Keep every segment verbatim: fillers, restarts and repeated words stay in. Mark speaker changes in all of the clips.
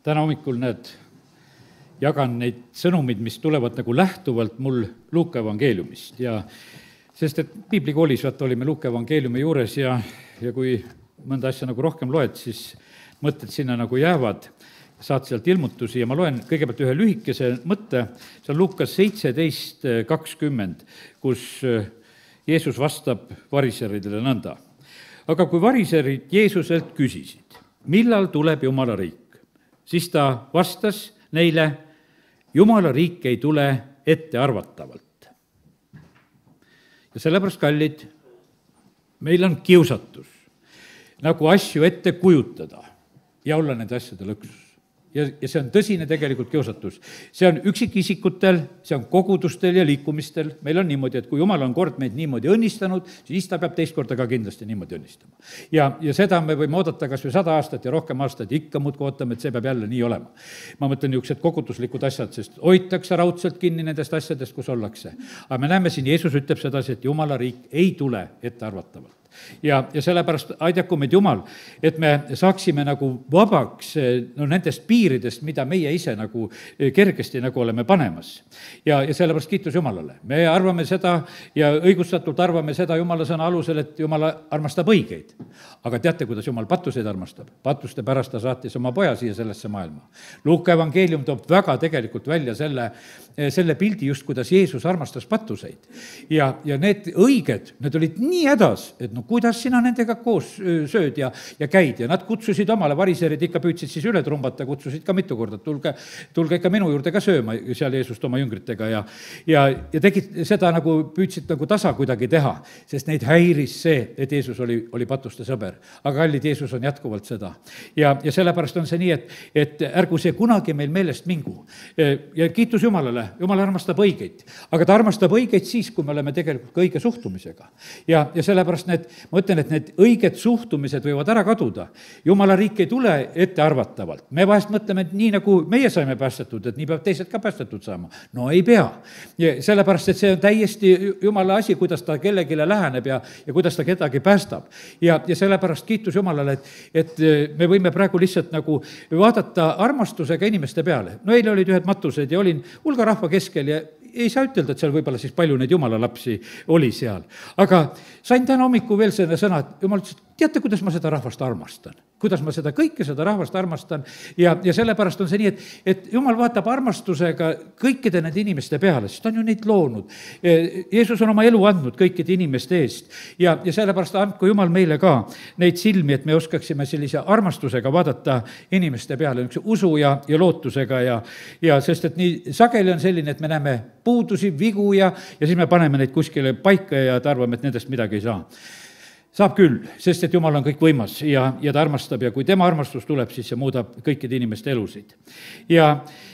Speaker 1: täna hommikul näed, jagan neid sõnumid, mis tulevad nagu lähtuvalt mul Luuka evangeeliumist ja sest et piiblikoolis vaata olime Luuka evangeeliumi juures ja, ja kui mõnda asja nagu rohkem loed, siis mõtted sinna nagu jäävad, saad sealt ilmutusi ja ma loen kõigepealt ühe lühikese mõtte, see on Luukas seitseteist kakskümmend, kus Jeesus vastab variseridele nõnda. Aga kui variserid Jeesuselt küsisid, millal tuleb Jumala riik, siis ta vastas neile, Jumala riik ei tule ettearvatavalt. Ja sellepärast, kallid, meil on kiusatus nagu asju ette kujutada ja olla nende asjade lõksus. Ja, ja see on tõsine tegelikult kiusatus. See on üksikisikutel, see on kogudustel ja liikumistel. Meil on niimoodi, et kui Jumal on kord meid niimoodi õnnistanud, siis ta peab teist korda ka kindlasti niimoodi õnnistama. Ja, ja seda me võime oodata kas või sada aastat ja rohkem aastat, ikka muudkui ootame, et see peab jälle nii olema. Ma mõtlen niisugused koguduslikud asjad, sest hoitakse raudselt kinni nendest asjadest, kus ollakse. Aga me näeme siin, Jeesus ütleb sedasi, et Jumala riik ei tule ettearvatavalt. Ja, ja sellepärast aidaku meid Jumal, et me saaksime nagu vabaks no, nendest piiridest, mida meie ise nagu kergesti nagu oleme panemas. Ja, ja sellepärast kiitus Jumalale. Me arvame seda ja õigustatult arvame seda Jumala sõna alusel, et Jumala armastab õigeid. Aga teate, kuidas Jumal patuseid armastab? Patuste pärast ta saatis oma poja siia sellesse maailma. Luuka evangeelium toob väga tegelikult välja selle, selle pildi just, kuidas Jeesus armastas patuseid. Ja, ja need õiged, need olid nii hädas, et no kuidas sina nendega koos sööd ja, ja käid ja nad kutsusid omale, variserid ikka püüdsid siis üle trumbata, kutsusid ka mitu korda, tulge, tulge ikka minu juurde ka sööma seal Jeesust oma jüngritega ja, ja, ja tegid seda nagu, püüdsid nagu tasa kuidagi teha, sest neid häiris see, et Jeesus oli, oli patuste sõber. Aga kallid, Jeesus on jätkuvalt seda. Ja, ja sellepärast on see nii, et, et ärgu see kunagi meil meelest mingu. Ja kiitus Jumalale, Jumal armastab õigeid, aga ta armastab õigeid siis, kui me oleme tegelikult ka õige suhtumisega. Ja, ja sellepärast need ma ütlen, et need õiged suhtumised võivad ära kaduda. Jumala riik ei tule ettearvatavalt. Me vahest mõtleme, et nii nagu meie saime päästetud, et nii peab teised ka päästetud saama. No ei pea. Ja sellepärast, et see on täiesti Jumala asi, kuidas ta kellegile läheneb ja, ja kuidas ta kedagi päästab. Ja, ja sellepärast kiitus Jumalale, et, et me võime praegu lihtsalt nagu vaadata armastusega inimeste peale. No eile olid ühed matused ja olin hulga rahva keskel ja ei saa ütelda, et seal võib-olla siis palju neid Jumala lapsi oli seal. Aga sain täna hommiku veel selle sõna, et Jumal ütles, teate, kuidas ma seda rahvast armastan. Kuidas ma seda kõike, seda rahvast armastan. Ja, ja sellepärast on see nii, et, et Jumal vaatab armastusega kõikide nende inimeste peale, sest ta on ju neid loonud. Jeesus on oma elu andnud kõikide inimeste eest. Ja, ja sellepärast andku Jumal meile ka neid silmi, et me oskaksime sellise armastusega vaadata inimeste peale, usu ja, ja lootusega. Ja, ja sest et nii sageli on selline, et me näeme puudusi, vigu ja, ja siis me paneme neid kuskile paika ja arvame, et nendest midagi ei saa. Saab küll, sest et Jumal on kõik võimas ja, ja ta armastab ja kui tema armastus tuleb, siis see muudab kõikide inimeste elusid. Ja,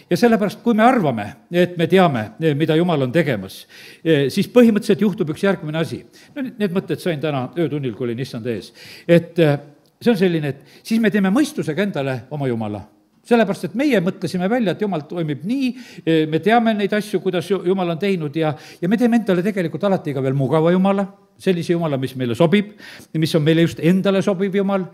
Speaker 1: ja sellepärast, kui me arvame, et me teame, mida Jumal on tegemas, siis põhimõtteliselt juhtub üks järgmine asi. No, need mõtted sain täna öötunnil, kui olin issand ees. Et see on selline, et siis me teeme mõistusega endale oma Jumala. Sellepärast, et meie mõtlesime välja, et Jumal toimib nii, me teame neid asju, kuidas Jumal on teinud ja, ja me teeme endale tegelikult alati ka veel mugava Jumala, sellise Jumala, mis meile sobib, mis on meile just endale sobiv Jumal.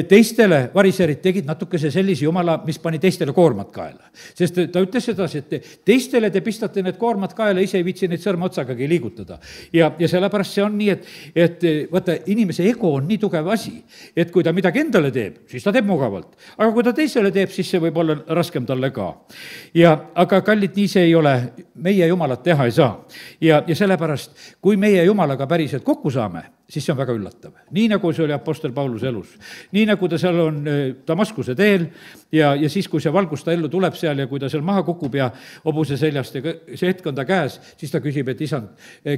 Speaker 1: Teistele variserid tegid natukese sellise Jumala, mis pani teistele koormad kaela. Sest ta ütles sedasi, et teistele te pistate need koormad kaela, ise ei viitsi neid sõrma otsagagi liigutada. Ja, ja sellepärast see on nii, et, et vaata, inimese ego on nii tugev asi, et kui ta midagi endale teeb, siis ta teeb mugavalt. Aga kui ta teisele teeb, siis see võib olla raskem talle ka. Ja, aga kallid, nii see ei ole. Meie Jumalat teha ei saa. Ja, ja sellepärast, kui meie Jumalaga päriselt kokku saame, siis see on väga üllatav. Nii nagu see oli apostel Paulus elus. Nii nagu ta seal on Damaskuse teel ja, ja siis, kui see valgus ta ellu tuleb seal ja kui ta seal maha kukub ja hobuse seljast ja see hetk on ta käes, siis ta küsib, et isand,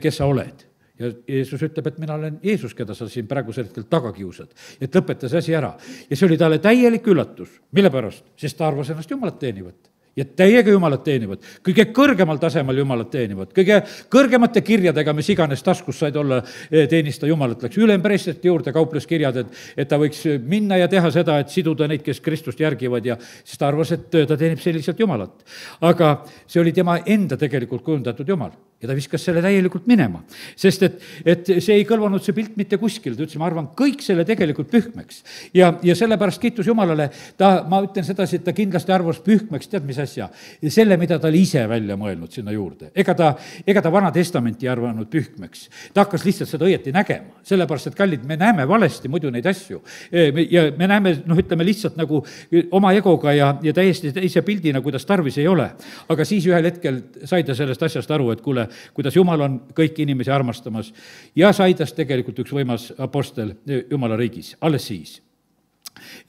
Speaker 1: kes sa oled? Ja Jeesus ütleb, et mina olen Jeesus, keda sa siin praegusel hetkel taga kiusad. Et lõpeta see asi ära. Ja see oli talle täielik üllatus. Mille pärast? Sest ta arvas ennast Jumalat teenivat. Ja täiega Jumalat teenivad, kõige kõrgemal tasemel Jumalat teenivad, kõige kõrgemate kirjadega, mis iganes taskus said olla teenista Jumalat, läks ülempreestrite juurde, kauples kirjad, et, et ta võiks minna ja teha seda, et siduda neid, kes Kristust järgivad ja siis ta arvas, et ta teenib selliselt Jumalat. Aga see oli tema enda tegelikult kujundatud Jumal. ja ta viskas selle täielikult minema, sest et, et see ei kõlvanud, see pilt mitte kuskil, ta ütles, ma arvan kõik selle tegelikult pühkmeks. ja, ja sellepärast kiitus Jumalale, ta, ma ütlen sedasi, et ta kindlasti arvas pühkmeks, tead mis asja, selle, mida ta oli ise välja mõelnud sinna juurde. ega ta, ega ta Vana Testamenti ei arvanud pühkmeks. ta hakkas lihtsalt seda õieti nägema, sellepärast et kallid, me näeme valesti muidu neid asju. ja me näeme, noh, ütleme lihtsalt nagu oma egoga ja, ja täiesti teise pildina, kuidas tarvis ei ole. aga siis ühel hetkel sai ta sellest asjast aru, et kuule, kuidas Jumal on kõiki inimesi armastamas ja sai tast tegelikult üks võimas apostel Jumala riigis, alles siis.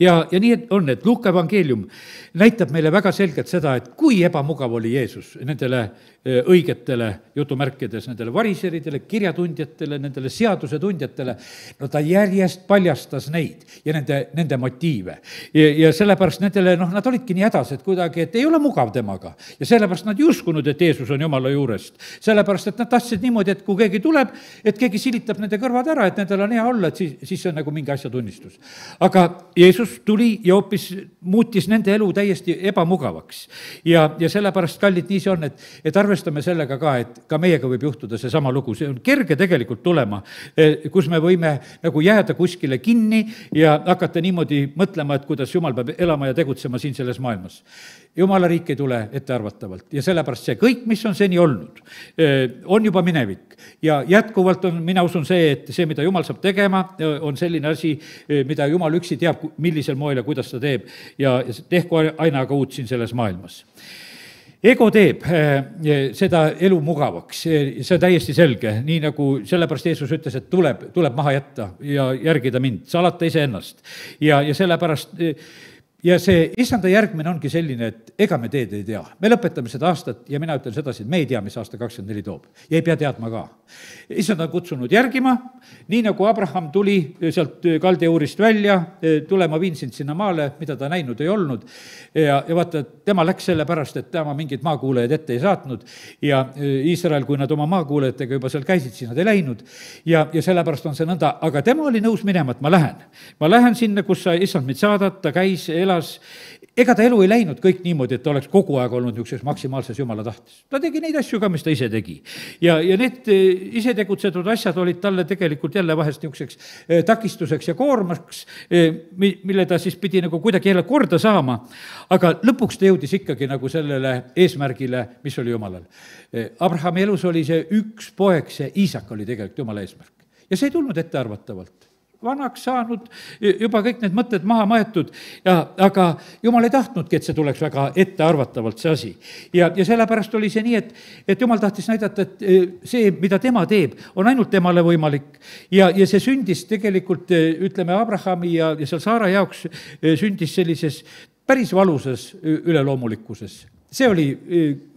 Speaker 1: ja, ja nii on, et Luuka evangeelium näitab meile väga selgelt seda, et kui ebamugav oli Jeesus nendele õigetele jutumärkides, nendele variseridele, kirjatundjatele, nendele seadusetundjatele, no ta järjest paljastas neid ja nende, nende motiive. ja, ja sellepärast nendele, noh, nad olidki nii hädas, et kuidagi, et ei ole mugav temaga. ja sellepärast nad ei uskunud, et Jeesus on Jumala juurest. sellepärast, et nad tahtsid niimoodi, et kui keegi tuleb, et keegi silitab nende kõrvad ära, et nendel on hea olla, et siis, siis see on nagu mingi asja tunnistus. aga Jeesus tuli ja hoopis muutis nende elu täiesti ebamugavaks. ja, ja sellepärast, kallid, nii see on, et, et arvestame sellega ka, et ka meiega võib juhtuda seesama lugu, see on kerge tegelikult tulema, kus me võime nagu jääda kuskile kinni ja hakata niimoodi mõtlema, et kuidas Jumal peab elama ja tegutsema siin selles maailmas. Jumala riik ei tule ettearvatavalt ja sellepärast see kõik, mis on seni olnud, on juba minevik. ja jätkuvalt on, mina usun see, et see, mida Jumal saab tegema, on selline asi, mida Jumal üksi teab, millisel moel ja kuidas ta teeb ja tehku aina aga uut siin selles maailmas. Ego teeb seda elu mugavaks, see on täiesti selge, nii nagu sellepärast Jeesus ütles, et tuleb, tuleb maha jätta ja järgida mind, salata iseennast. ja, ja sellepärast ja see issanda järgmine ongi selline, et ega me teed ei tea. Me lõpetame seda aastat ja mina ütlen sedasi, et me ei tea, mis aasta kakskümmend neli toob. Ja ei pea teadma ka. Issand on kutsunud järgima, nii nagu Abraham tuli sealt kaldejuurist välja, tule, ma viin sind sinna maale, mida ta näinud ei olnud. Ja, ja vaata, tema läks selle pärast, et tema mingid maakuulajad ette ei saatnud ja Iisrael, kui nad oma maakuulajatega juba seal käisid, siis nad ei läinud. Ja, ja sellepärast on see nõnda, aga tema oli nõus minema, et ma lähen. Ma lähen sinna, kus sa issand mind saadad, ta käis, elas, ega ta elu ei läinud kõik niimoodi, et ta oleks kogu aeg olnud niisuguses maksimaalses Jumala tahtes. Ta tegi neid asju ka, mis ta ise tegi. Ja, ja need ise tegutsetud asjad olid talle tegelikult jälle vahest niisuguseks takistuseks ja koormaks, mille ta siis pidi nagu kuidagi jälle korda saama. Aga lõpuks ta jõudis ikkagi nagu sellele eesmärgile, mis oli Jumalal. Abrahami elus oli see üks poeg, see Iisak oli tegelikult Jumala eesmärk. Ja see ei tulnud ettearvatavalt. Vanaks saanud, juba kõik need mõtted maha maetud, ja, aga Jumal ei tahtnudki, et see tuleks väga ettearvatavalt see asi. Ja, ja sellepärast oli see nii, et, et Jumal tahtis näidata, et see, mida tema teeb, on ainult temale võimalik. Ja, ja see sündis tegelikult, ütleme, Abrahami ja, ja seal Saara jaoks sündis sellises päris valusas üleloomulikkuses. See oli,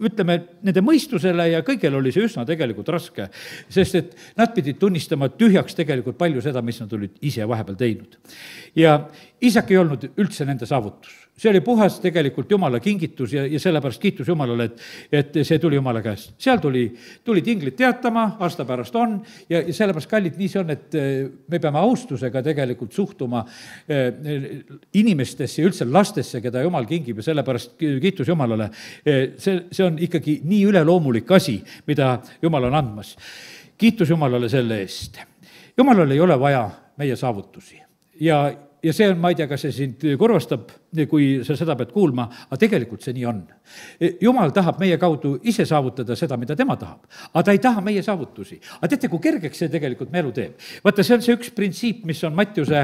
Speaker 1: ütleme, nende mõistusele ja kõigel oli see üsna tegelikult raske, sest et nad pidid tunnistama tühjaks tegelikult palju seda, mis nad olid ise vahepeal teinud. Ja Iisak ei olnud üldse nende saavutus. See oli puhas tegelikult Jumala kingitus ja, ja sellepärast kiitus Jumalale, et, et see tuli Jumala käest. Seal tuli, tuli tinglid teatama, aasta pärast on ja, ja sellepärast kallid nii see on, et me peame austusega tegelikult suhtuma inimestesse ja üldse lastesse, keda Jumal kingib ja sellepärast kiitus Jumalale. See, see on ikkagi nii üleloomulik asi, mida Jumal on andmas. Kiitus Jumalale selle eest. Jumalal ei ole vaja meie saavutusi ja Ja see on, ma ei tea, kas see sind kurvastab, kui sa seda pead kuulma, aga tegelikult see nii on. Jumal tahab meie kaudu ise saavutada seda, mida tema tahab, aga ta ei taha meie saavutusi. Aga teate, kui kergeks see tegelikult me elu teeb? Vaata, see on see üks printsiip, mis on Mattiuse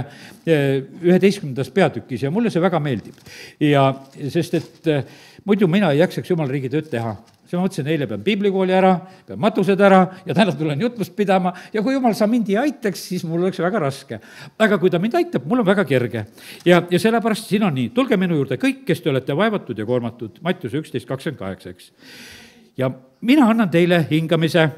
Speaker 1: üheteistkümnendas peatükis ja mulle see väga meeldib. Ja sest, et muidu mina ei jaksaks Jumala riigi tööd teha. See ma mõtlesin, eile pean piiblikooli ära, pean matused ära ja täna tulen jutlust pidama ja kui Jumal sa mind ei aitaks, siis mul oleks väga raske. Aga kui ta mind aitab, mul on väga kerge. Ja, ja sellepärast siin on nii, tulge minu juurde kõik, kes te olete vaevatud ja koormatud, Mattiuse üksteist kakskümmend kaheksa, eks. Ja mina annan teile hingamise,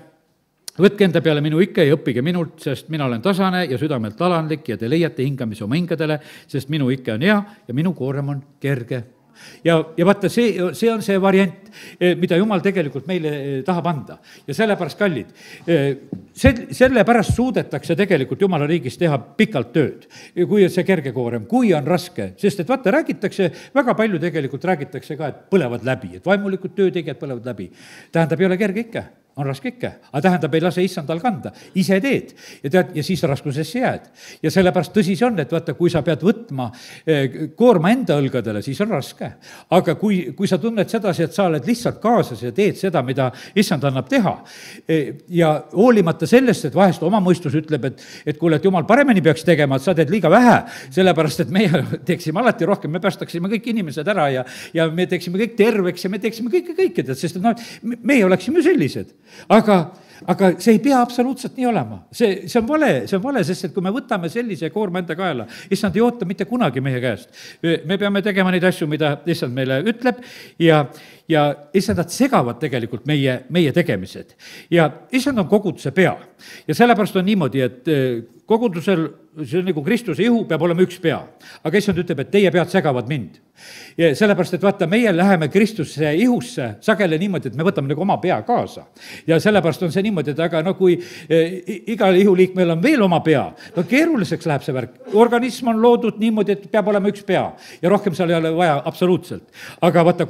Speaker 1: võtke enda peale minu ikke ja õppige minult, sest mina olen tasane ja südamelt alandlik ja te leiate hingamise oma hingadele, sest minu ikke on hea ja minu koorem on kerge. Ja, ja vaata, see, see on see variant, mida Jumal tegelikult meile tahab anda. Ja sellepärast kallid, sellepärast suudetakse tegelikult Jumala riigis teha pikalt tööd, kui see kerge koorem, kui on raske, sest et vaata, räägitakse, väga palju tegelikult räägitakse ka, et põlevad läbi, et vaimulikud töötegijad põlevad läbi. Tähendab, ei ole kerge ikka. on raske ikka, aga tähendab, ei lase issandal kanda, ise teed ja tead, ja siis raskusesse jääd. ja sellepärast tõsi see on, et vaata, kui sa pead võtma koorma enda õlgadele, siis on raske. aga kui, kui sa tunned sedasi, et sa oled lihtsalt kaasas ja teed seda, mida issand annab teha ja hoolimata sellest, et vahest oma mõistus ütleb, et, et kuule, et jumal paremini peaks tegema, et sa teed liiga vähe, sellepärast et meie teeksime alati rohkem, me päästaksime kõik inimesed ära ja, ja me teeksime kõik terveks ja me teeksime kõike kõike, sest et noh, meie oleksime sellised. aga, aga see ei pea absoluutselt nii olema. See, see on vale, see on vale, sest et kui me võtame sellise koorma enda kaela, issand ei oota mitte kunagi meie käest. Me peame tegema neid asju, mida issand meile ütleb ja, ja issand, nad segavad tegelikult meie, meie tegemised. Ja issand on koguduse pea. Ja sellepärast on niimoodi, et kogudusel, see on nagu Kristuse ihu, peab olema üks pea. Aga issand ütleb, et teie pead segavad mind. Ja sellepärast, et vaata, meie läheme Kristuse ihusse sageli niimoodi, et me võtame nagu oma pea kaasa. Ja sellepärast on see niimoodi, et aga no kui igal ihuliikmel on veel oma pea, no keeruliseks läheb see värk. Organism on loodud niimoodi, et peab olema üks pea ja rohkem seal ei ole vaja absoluutselt. Aga vaata,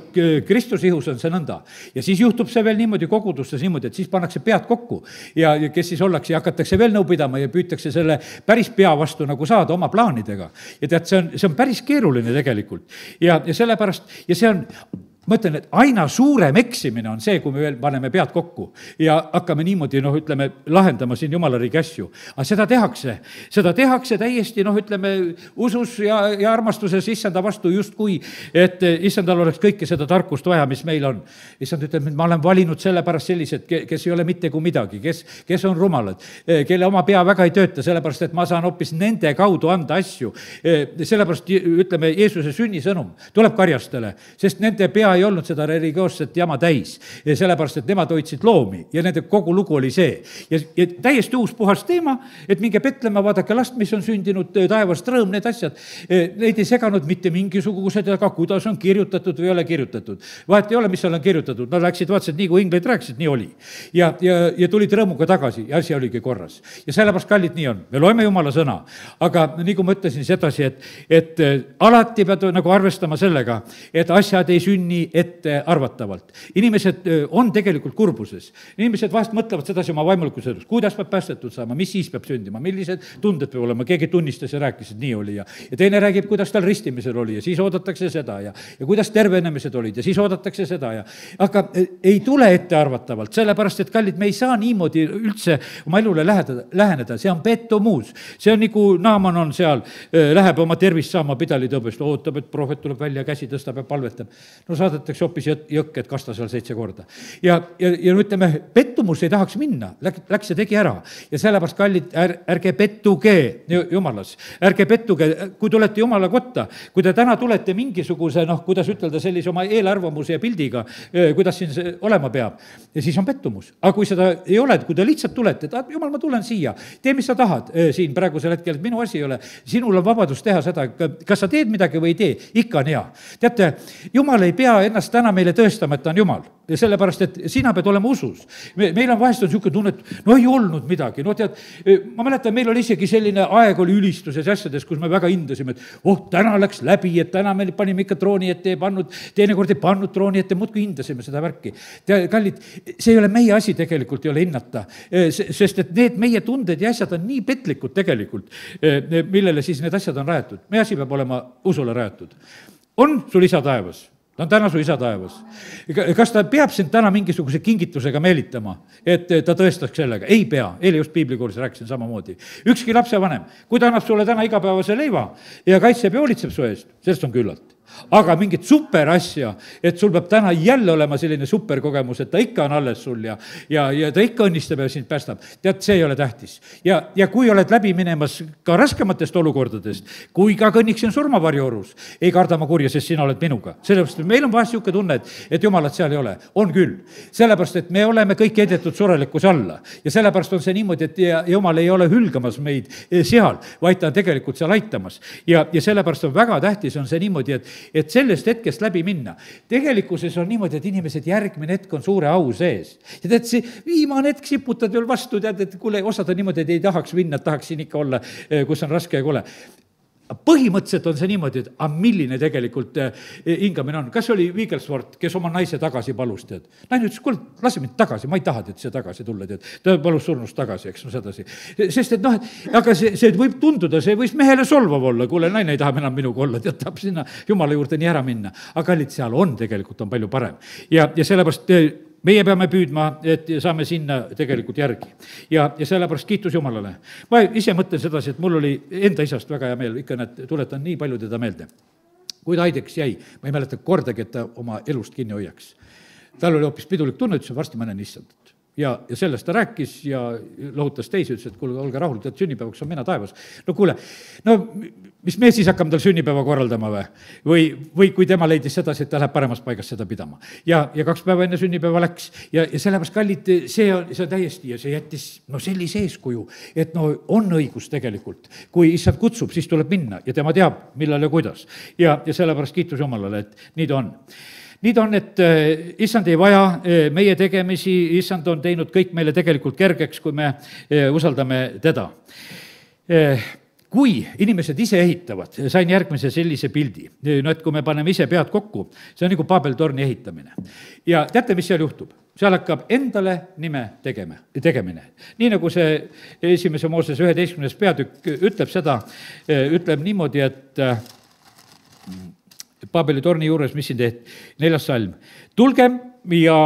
Speaker 1: Kristuse ihus on see nõnda. Ja siis juhtub see veel niimoodi kogudustes niimoodi, et siis pannakse pead kokku ja kes siis ollakse ja hakatakse veel nõu pidama ja püütakse selle päris pea vastu nagu saada oma plaanidega. Ja tead, see on, see on päris keeruline tegelikult. Ja, ja sellepärast, ja see on, ma ütlen, et aina suurem eksimine on see, kui me veel paneme pead kokku ja hakkame niimoodi, noh, ütleme, lahendama siin jumalariigi asju. Aga seda tehakse, seda tehakse täiesti, noh, ütleme, usus ja, ja armastuses issanda vastu justkui, et issandal oleks kõike seda tarkust vaja, mis meil on. Issand ütleb, et ma olen valinud sellepärast sellised, kes ei ole mitte kui midagi, kes, kes on rumalad, kelle oma pea väga ei tööta, sellepärast, et ma saan hoopis nende kaudu anda asju. Sellepärast, ütleme, Jeesuse sünnisõnum tuleb karjastele, sest nende pea ei olnud seda religioosset jama täis, sellepärast, et nemad hoidsid loomi ja nende kogu lugu oli see. Ja, ja täiesti uus puhas teema, et minge Betlemme, vaadake last, mis on sündinud taevast rõõm, need asjad, neid ei seganud mitte mingisugused, aga kuidas on kirjutatud või ei ole kirjutatud. Vahet ei ole, mis seal on kirjutatud, nad läksid, vaatasid, nii kui inglid rääkisid, nii oli. Ja, ja, ja tulid rõõmuga tagasi ja asi oligi korras. Ja sellepärast, kallid, nii on. Me loeme Jumala sõna, aga nii kui ma ütlesin sedasi, et, et alati pead nagu arvestama sellega, et asjad ei sünni ette arvatavalt. Inimesed on tegelikult kurbuses. Inimesed vahest mõtlevad sedasi oma vaimulikus elus, kuidas peab päästetud saama, mis siis peab sündima, millised tunded peab olema, keegi tunnistas ja rääkis, et nii oli ja, ja teine räägib, kuidas tal ristimisel oli ja siis oodatakse seda ja, ja kuidas tervenemised olid ja siis oodatakse seda ja aga ei tule ette arvatavalt, sellepärast, et kallid, me ei saa niimoodi üldse oma elule läheneda, läheneda. See on pettumus. See on nagu Naaman on seal, läheb oma tervist saama pidalitõbest, ootab, et prohvet tuleb välja, käsi tõstab ja palvetab. No saadetakse hoopis jõkk, et kasta seal seitse korda. Ja, ja, ja ütleme, pettumus ei tahaks minna, läks, läks ja tegi ära. Ja sellepärast, kallid, är, ärge pettuge Jumalas. Ärge pettuge, kui tulete Jumala kotta, kui te täna tulete mingisuguse, noh, kuidas ütelda, sellise oma eelarvamuse ja pildiga, kuidas siin see olema peab, ja siis on pettumus. Aga kui seda ei ole, kui te lihtsalt tulete, et Jumal, ma tulen siia, tee, mis sa tahad siin praegusel hetkel, et minu asi ei ole, sinul on vabadus teha seda, kas sa teed midagi või ei tee, ikka on hea. Teate, Jumal ei pea ennast täna meile tõestama, et ta on Jumal. Ja sellepärast, et sina pead olema usus. Me, meil on vahest on niisugune tunne, et no ei olnud midagi. No tead, ma mäletan, meil oli isegi selline aeg oli ülistuses asjades, kus me väga hindasime, et oh, täna läks läbi, et täna me panime ikka trooni ette, ei pannud, teinekord ei pannud trooni ette, muudkui hindasime seda värki. Te, kallid, see ei ole meie asi tegelikult, ei ole hinnata, sest et need meie tunded ja asjad on nii petlikud tegelikult, millele siis need asjad on rajatud. Meie asi peab olema usule rajatud. On sul isa taevas? Ta on täna su isa taevas. Kas ta peab sind täna mingisuguse kingitusega meelitama, et ta tõestaks sellega? Ei pea. Eile just piiblikoolis rääkisin samamoodi. Ükski lapsevanem, kui ta annab sulle täna igapäevase leiva ja kaitseb ja hoolitseb su eest, sellest on küllalt. Aga mingit super asja, et sul peab täna jälle olema selline superkogemus, et ta ikka on alles sul ja, ja, ja ta ikka õnnistab ja sind päästab. Tead, see ei ole tähtis. Ja, ja kui oled läbi minemas ka raskematest olukordadest, kui ka kõnniksin surmavarjuorus, ei karda ma kurja, sest sina oled minuga. Sellepärast, meil on vahest niisugune tunne, et, et Jumalat seal ei ole. On küll. Sellepärast, et me oleme kõik heidetud surelikkuse alla. Ja sellepärast on see niimoodi, et ja, Jumal ei ole hülgamas meid seal, vaid ta on tegelikult seal aitamas. Ja, ja sellepärast on väga tähtis on see niimoodi, et et sellest hetkest läbi minna. Tegelikkuses on niimoodi, et inimesed järgmine hetk on suure au sees. Ja tead, see viimane hetk siputad veel vastu, tead, et kuule, osad on niimoodi, et ei tahaks minna, et tahaks siin ikka olla, kus on raske ja kole. põhimõtteliselt on see niimoodi, et aga milline tegelikult hingamine on. Kas oli Wigglesworth, kes oma naise tagasi palus, tead? Naine ütles, kuule, lase mind tagasi, ma ei taha, et see tagasi tulla, tead. Ta palus surnust tagasi, eks, no sedasi. Sest et noh, aga see, see võib tunduda, see võis mehele solvav olla, kuule, naine ei taha enam minuga olla, tead, tahab sinna Jumala juurde nii ära minna. Aga kallid, seal on tegelikult on palju parem. Ja, ja sellepärast meie peame püüdma, et saame sinna tegelikult järgi. Ja, ja sellepärast kiitus Jumalale. Ma ise mõtlen sedasi, et mul oli enda isast väga hea meel, ikka näed, tuletan nii palju teda meelde. Kui ta haideks jäi, ma ei mäleta kordagi, et ta oma elust kinni hoiaks. Tal oli hoopis pidulik tunne, ütles, varsti ma näen issandat. Ja, ja sellest ta rääkis ja lohutas teisi, ütles, et kuule, olge rahul, tead sünnipäevaks on mina taevas. No kuule, no mis me siis hakkame tal sünnipäeva korraldama või? Või, või kui tema leidis sedasi, et ta läheb paremas paigas seda pidama. Ja, ja kaks päeva enne sünnipäeva läks ja, ja sellepärast kallid, see on, see on täiesti ja see jättis no sellise eeskuju, et no on õigus tegelikult. Kui issand kutsub, siis tuleb minna ja tema teab, millal ja kuidas. Ja, ja sellepärast kiitus Jumalale, et nii ta on. Nii ta on, et issand ei vaja meie tegemisi, issand on teinud kõik meile tegelikult kergeks, kui me usaldame teda. Kui inimesed ise ehitavad, sain järgmise sellise pildi, no et kui me paneme ise pead kokku, see on nagu Babel-torni ehitamine. Ja teate, mis seal juhtub? Seal hakkab endale nime tegema, tegemine. Nii nagu see esimese Mooses üheteistkümnes peatükk ütleb seda, ütleb niimoodi, et Babeli torni juures, mis siin tehti, neljas salm. Tulgem ja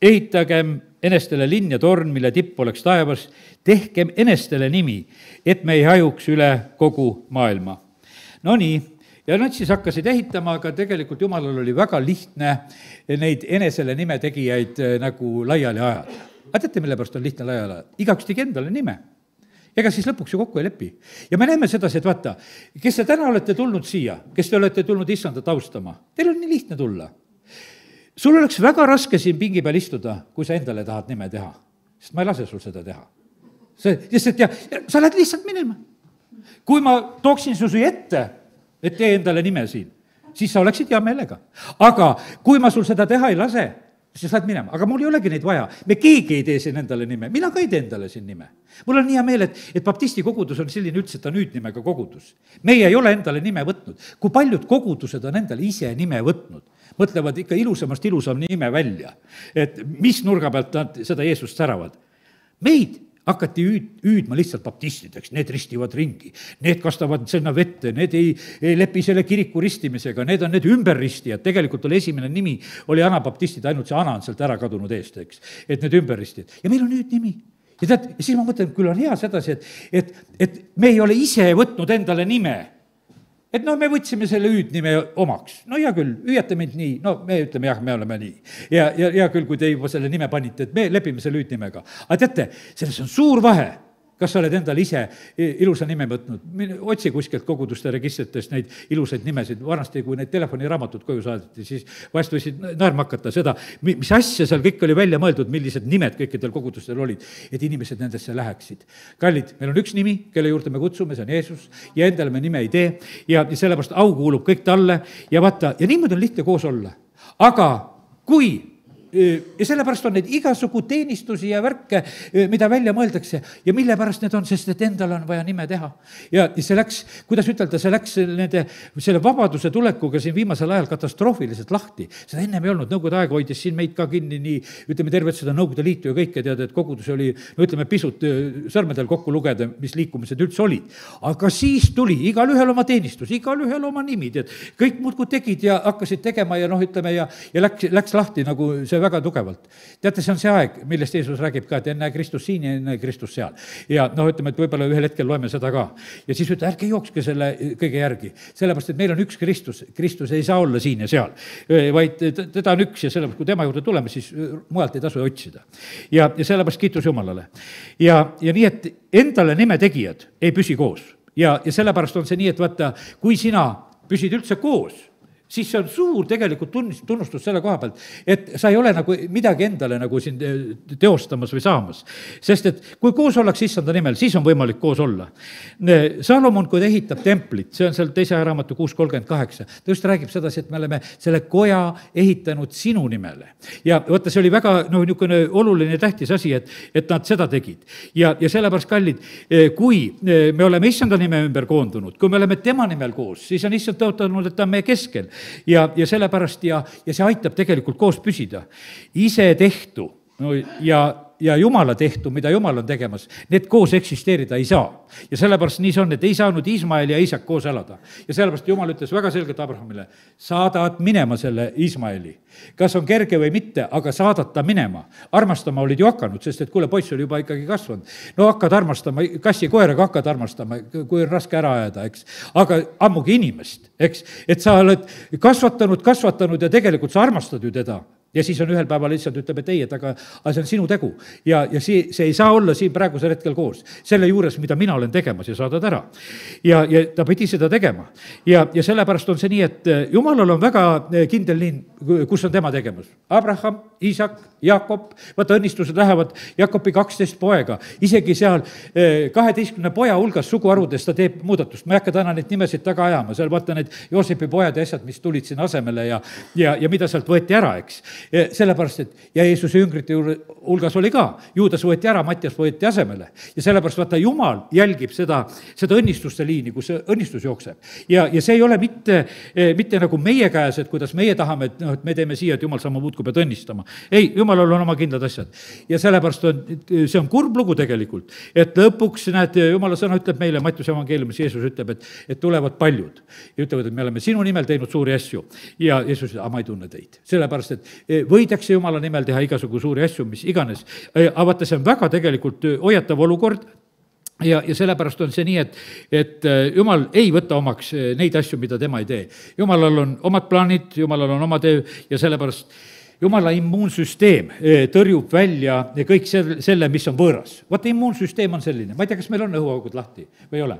Speaker 1: ehitagem enestele linn ja torn, mille tipp oleks taevas, tehkem enestele nimi, et me ei hajuks üle kogu maailma. No nii, ja nad siis hakkasid ehitama, aga tegelikult Jumalal oli väga lihtne neid enesele nime tegijaid nagu laiali ajada. Aga teate, mille pärast on lihtne laiali ajada? Igaks tegi endale nime. Ega siis lõpuks ju kokku ei lepi. Ja me näeme sedasi, et vaata, kes te täna olete tulnud siia, kes te olete tulnud issandat austama, teil on nii lihtne tulla. Sul oleks väga raske siin pingi peal istuda, kui sa endale tahad nime teha, sest ma ei lase sul seda teha. See, sest ja, ja sa lähed lihtsalt minema. Kui ma tooksin su siia ette, et tee endale nime siin, siis sa oleksid hea meelega. Aga kui ma sul seda teha ei lase, siis lähed minema, aga mul ei olegi neid vaja. Me keegi ei tee siin endale nime, mina ka ei tee endale siin nime. Mul on hea meel, et, et baptisti kogudus on selline üldse, et ta nüüdnimega kogudus. Meie ei ole endale nime võtnud. Kui paljud kogudused on endale ise nime võtnud, mõtlevad ikka ilusamast ilusam nime välja, et mis nurga pealt nad seda Jeesust säravad. Meid hakati hüüd, hüüdma lihtsalt baptistideks, need ristivad ringi, need kastavad sinna vette, need ei, ei lepi selle kiriku ristimisega, need on need ümberristijad, tegelikult oli esimene nimi, oli anabaptistid, ainult see ana on sealt ära kadunud eest, eks, et need ümberristijad. Ja meil on nüüd nimi. Ja tead, ja siis ma mõtlen, küll on hea sedasi, et, et, et me ei ole ise võtnud endale nime. Et no me võtsime selle hüüdnime omaks. No hea küll, hüüate mind nii, no me ütleme jah, me oleme nii. Ja, ja, ja küll, kui te juba selle nime panite, et me lepime selle hüüdnimega. Aga teate, selles on suur vahe. Kas sa oled endale ise ilusa nime võtnud? Otsi kuskilt koguduste registritest neid ilusaid nimesid. Vanasti, kui neid telefoniraamatud koju saadeti, siis vahest võisid naerma hakata seda, mis asja seal kõik oli välja mõeldud, millised nimed kõikidel kogudustel olid, et inimesed nendesse läheksid. Kallid, meil on üks nimi, kelle juurde me kutsume, see on Jeesus, ja endale me nime ei tee, ja sellepärast au kuulub kõik talle, ja vaata, ja niimoodi on lihtne koos olla. Aga kui ja sellepärast on neid igasugu teenistusi ja värke, mida välja mõeldakse ja mille pärast need on, sest et endal on vaja nime teha. Ja see läks, kuidas ütelda, see läks nende, selle vabaduse tulekuga siin viimasel ajal katastroofiliselt lahti. Seda ennem ei olnud, Nõukogude aeg hoidis siin meid ka kinni nii, ütleme tervet seda Nõukogude liitu ja kõike teada, et kogudus oli, no ütleme pisut sõrmedel kokku lugeda, mis liikumised üldse olid. Aga siis tuli igal ühel oma teenistus, igal ühel oma nimi, tead, kõik muudkui tegid ja hakkasid tegema ja noh, ütleme ja, ja läks, läks lahti nagu see väga tugevalt. Teate, see on see aeg, millest Jeesus räägib ka, et enne Kristus siin ja enne Kristus seal. Ja noh, ütleme, et võib-olla ühel hetkel loeme seda ka. Ja siis ütle, ärge jookske selle kõige järgi. Sellepärast, et meil on üks Kristus. Kristus ei saa olla siin ja seal, vaid teda on üks ja sellepärast, kui tema juurde tuleme, siis mujalt ei tasu otsida. Ja, ja sellepärast kiitus Jumalale. Ja, ja nii, et endale nime tegijad ei püsi koos. Ja, ja sellepärast on see nii, et vaata, kui sina püsid üldse koos, siis see on suur tegelikult tunnist, tunnustus selle koha pealt, et sa ei ole nagu midagi endale nagu siin teostamas või saamas. Sest et kui koos ollakse issanda nimel, siis on võimalik koos olla. Salomon, kui ta ehitab templit, see on seal teise raamatu kuus kolmkümmend kaheksa, ta just räägib sedasi, et me oleme selle koja ehitanud sinu nimele. Ja võtta, see oli väga no, niisugune oluline tähtis asi, et, et nad seda tegid. Ja, ja sellepärast, kallid, kui me oleme issanda nime ümber koondunud, kui me oleme tema nimel koos, siis on issand tõotanud, et ta on meie keskel. ja, ja sellepärast ja, ja see aitab tegelikult koos püsida. Ise tehtu no, ja, ja Jumala tehtu, mida Jumal on tegemas, need koos eksisteerida ei saa. Ja sellepärast nii see on, et ei saanud Ismael ja Isak koos elada. Ja sellepärast Jumal ütles väga selgelt Abrahamile, saadad minema selle Ismaeli. Kas on kerge või mitte, aga saadad ta minema. Armastama olid ju hakanud, sest et kuule, poiss oli juba ikkagi kasvanud. No hakkad armastama, kassi koeraga hakkad armastama, kui on raske ära ajada, eks. Aga ammugi inimest, eks. Et sa oled kasvatanud, kasvatanud ja tegelikult sa armastad ju teda. Ja siis on ühel päeval lihtsalt ütleb, et ei, et aga, aga see on sinu tegu. Ja, ja see, see ei saa olla siin praegusel hetkel koos. Selle juures, mida mina olen tegemas ja saadad ära. Ja, ja ta pidi seda tegema. Ja, ja sellepärast on see nii, et Jumalal on väga kindel liin, kus on tema tegemas. Abraham, Isak, Jakob, vaata õnnistused lähevad Jakobi kaksteist poega. Isegi seal kaheteistkümne poja hulgas suguharudest ta teeb muudatust. Ma ei hakka täna neid nimesid taga ajama. Seal vaata need Joosepi pojad ja asjad, mis tulid siin asemele ja, ja, ja mida sealt võeti ära, eks. Sellepärast, et ja Jeesuse jüngrite hulgas oli ka, Juudas võeti ära, Mattias võeti asemele. Ja sellepärast vaata, Jumal jälgib seda, seda õnnistuste liini, kus see õnnistus jookseb. Ja, ja see ei ole mitte, mitte nagu meie käes, et kuidas meie tahame, et, no, et me teeme siia, et Jumal sama muudkui pead õnnistama. Ei, Jumalal on oma kindlad asjad. Ja sellepärast on, see on kurb lugu tegelikult, et lõpuks, näed, Jumala sõna ütleb meile, Mattiuse evangeeliumis Jeesus ütleb, et, et tulevad paljud. Ja ütlevad, et me oleme sinu nimel teinud suuri asju. Ja Jeesus ütleb, ma ei tunne teid. Sellepärast, et võidakse Jumala nimel teha igasugu suuri asju, mis iganes. Aga vaata, see on väga tegelikult hoiatav olukord ja, ja sellepärast on see nii, et, et Jumal ei võta omaks neid asju, mida tema ei tee. Jumalal on omad plaanid, Jumalal on oma töö ja sellepärast Jumala immuunsüsteem tõrjub välja kõik selle, mis on võõras. Vaata, immuunsüsteem on selline. Ma ei tea, kas meil on õhuaugud lahti või ei ole.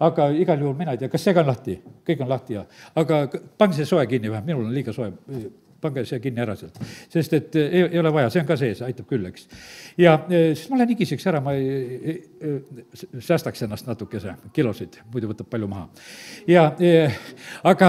Speaker 1: Aga igal juhul mina ei tea, kas see ka on lahti? Kõik on lahti ja. Aga pange see soe kinni või, minul on liiga soe. Pange see kinni ära sealt, sest et ei, ei ole vaja, see on ka sees, aitab küll, eks. Ja siis ma lähen higiseks ära, ma ei, ei, ei, säästaks ennast natukese kilosid, muidu võtab palju maha. Ja, aga,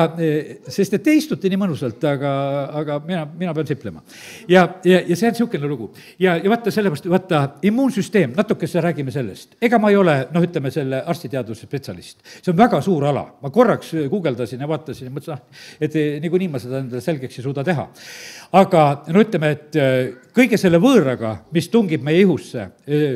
Speaker 1: sest et te istute nii mõnusalt, aga, aga mina, mina pean siplema. Ja, ja, ja see on niisugune lugu. Ja, ja vaata sellepärast, vaata immuunsüsteem, natukese räägime sellest. Ega ma ei ole, noh, ütleme selle arstiteaduse spetsialist. See on väga suur ala. Ma korraks guugeldasin ja vaatasin ja mõtlesin, et niikuinii ma seda endale selgeks ei suuda teha. Aga no ütleme, et kõige selle võõraga, mis tungib meie ihusse,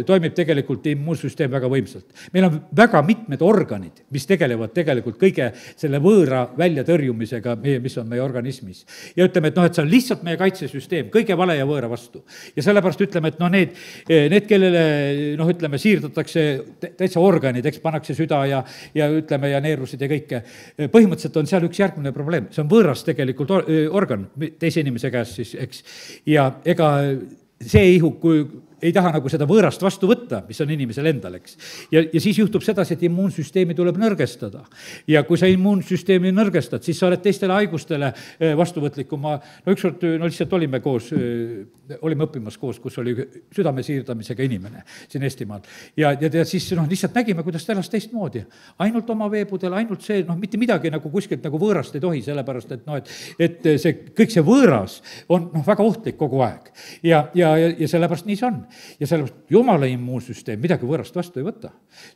Speaker 1: toimib tegelikult immuunsüsteem väga võimsalt. Meil on väga mitmed organid, mis tegelevad tegelikult kõige selle võõra väljatõrjumisega, mis on meie organismis. Ja ütleme, et noh, et see on lihtsalt meie kaitsesüsteem, kõige vale ja võõra vastu. Ja sellepärast ütleme, et noh, need, need kellele, noh, ütleme, siirdatakse täitsa organid, eks pannakse süda ja, ja ütleme, ja neerusid ja kõike. Põhimõtteliselt on seal üks järgmine probleem. See on võõras tegelikult organ teise inimese käes siis, eks. Ja ega see ihu, kui ei taha nagu seda võõrast vastu võtta, mis on inimesel endal, eks. Ja, ja siis juhtub sedasi, et immuunsüsteemi tuleb nõrgestada. Ja kui sa immuunsüsteemi nõrgestad, siis sa oled teistele haigustele vastuvõtlikum. Ma, no ükskord, no lihtsalt olime koos, olime õppimas koos, kus oli südame siirdamisega inimene siin Eestimaal. Ja, ja, ja siis noh, lihtsalt nägime, kuidas ta elas teistmoodi. Ainult oma veepudel, ainult see, noh, mitte midagi nagu kuskilt nagu võõrast ei tohi, sellepärast, et noh, et, et see, kõik see võõras on noh, väga ohtlik kogu aeg. Ja, ja, ja sellepärast nii see on. Ja sellepärast Jumala immuunsüsteem midagi võõrast vastu ei võta.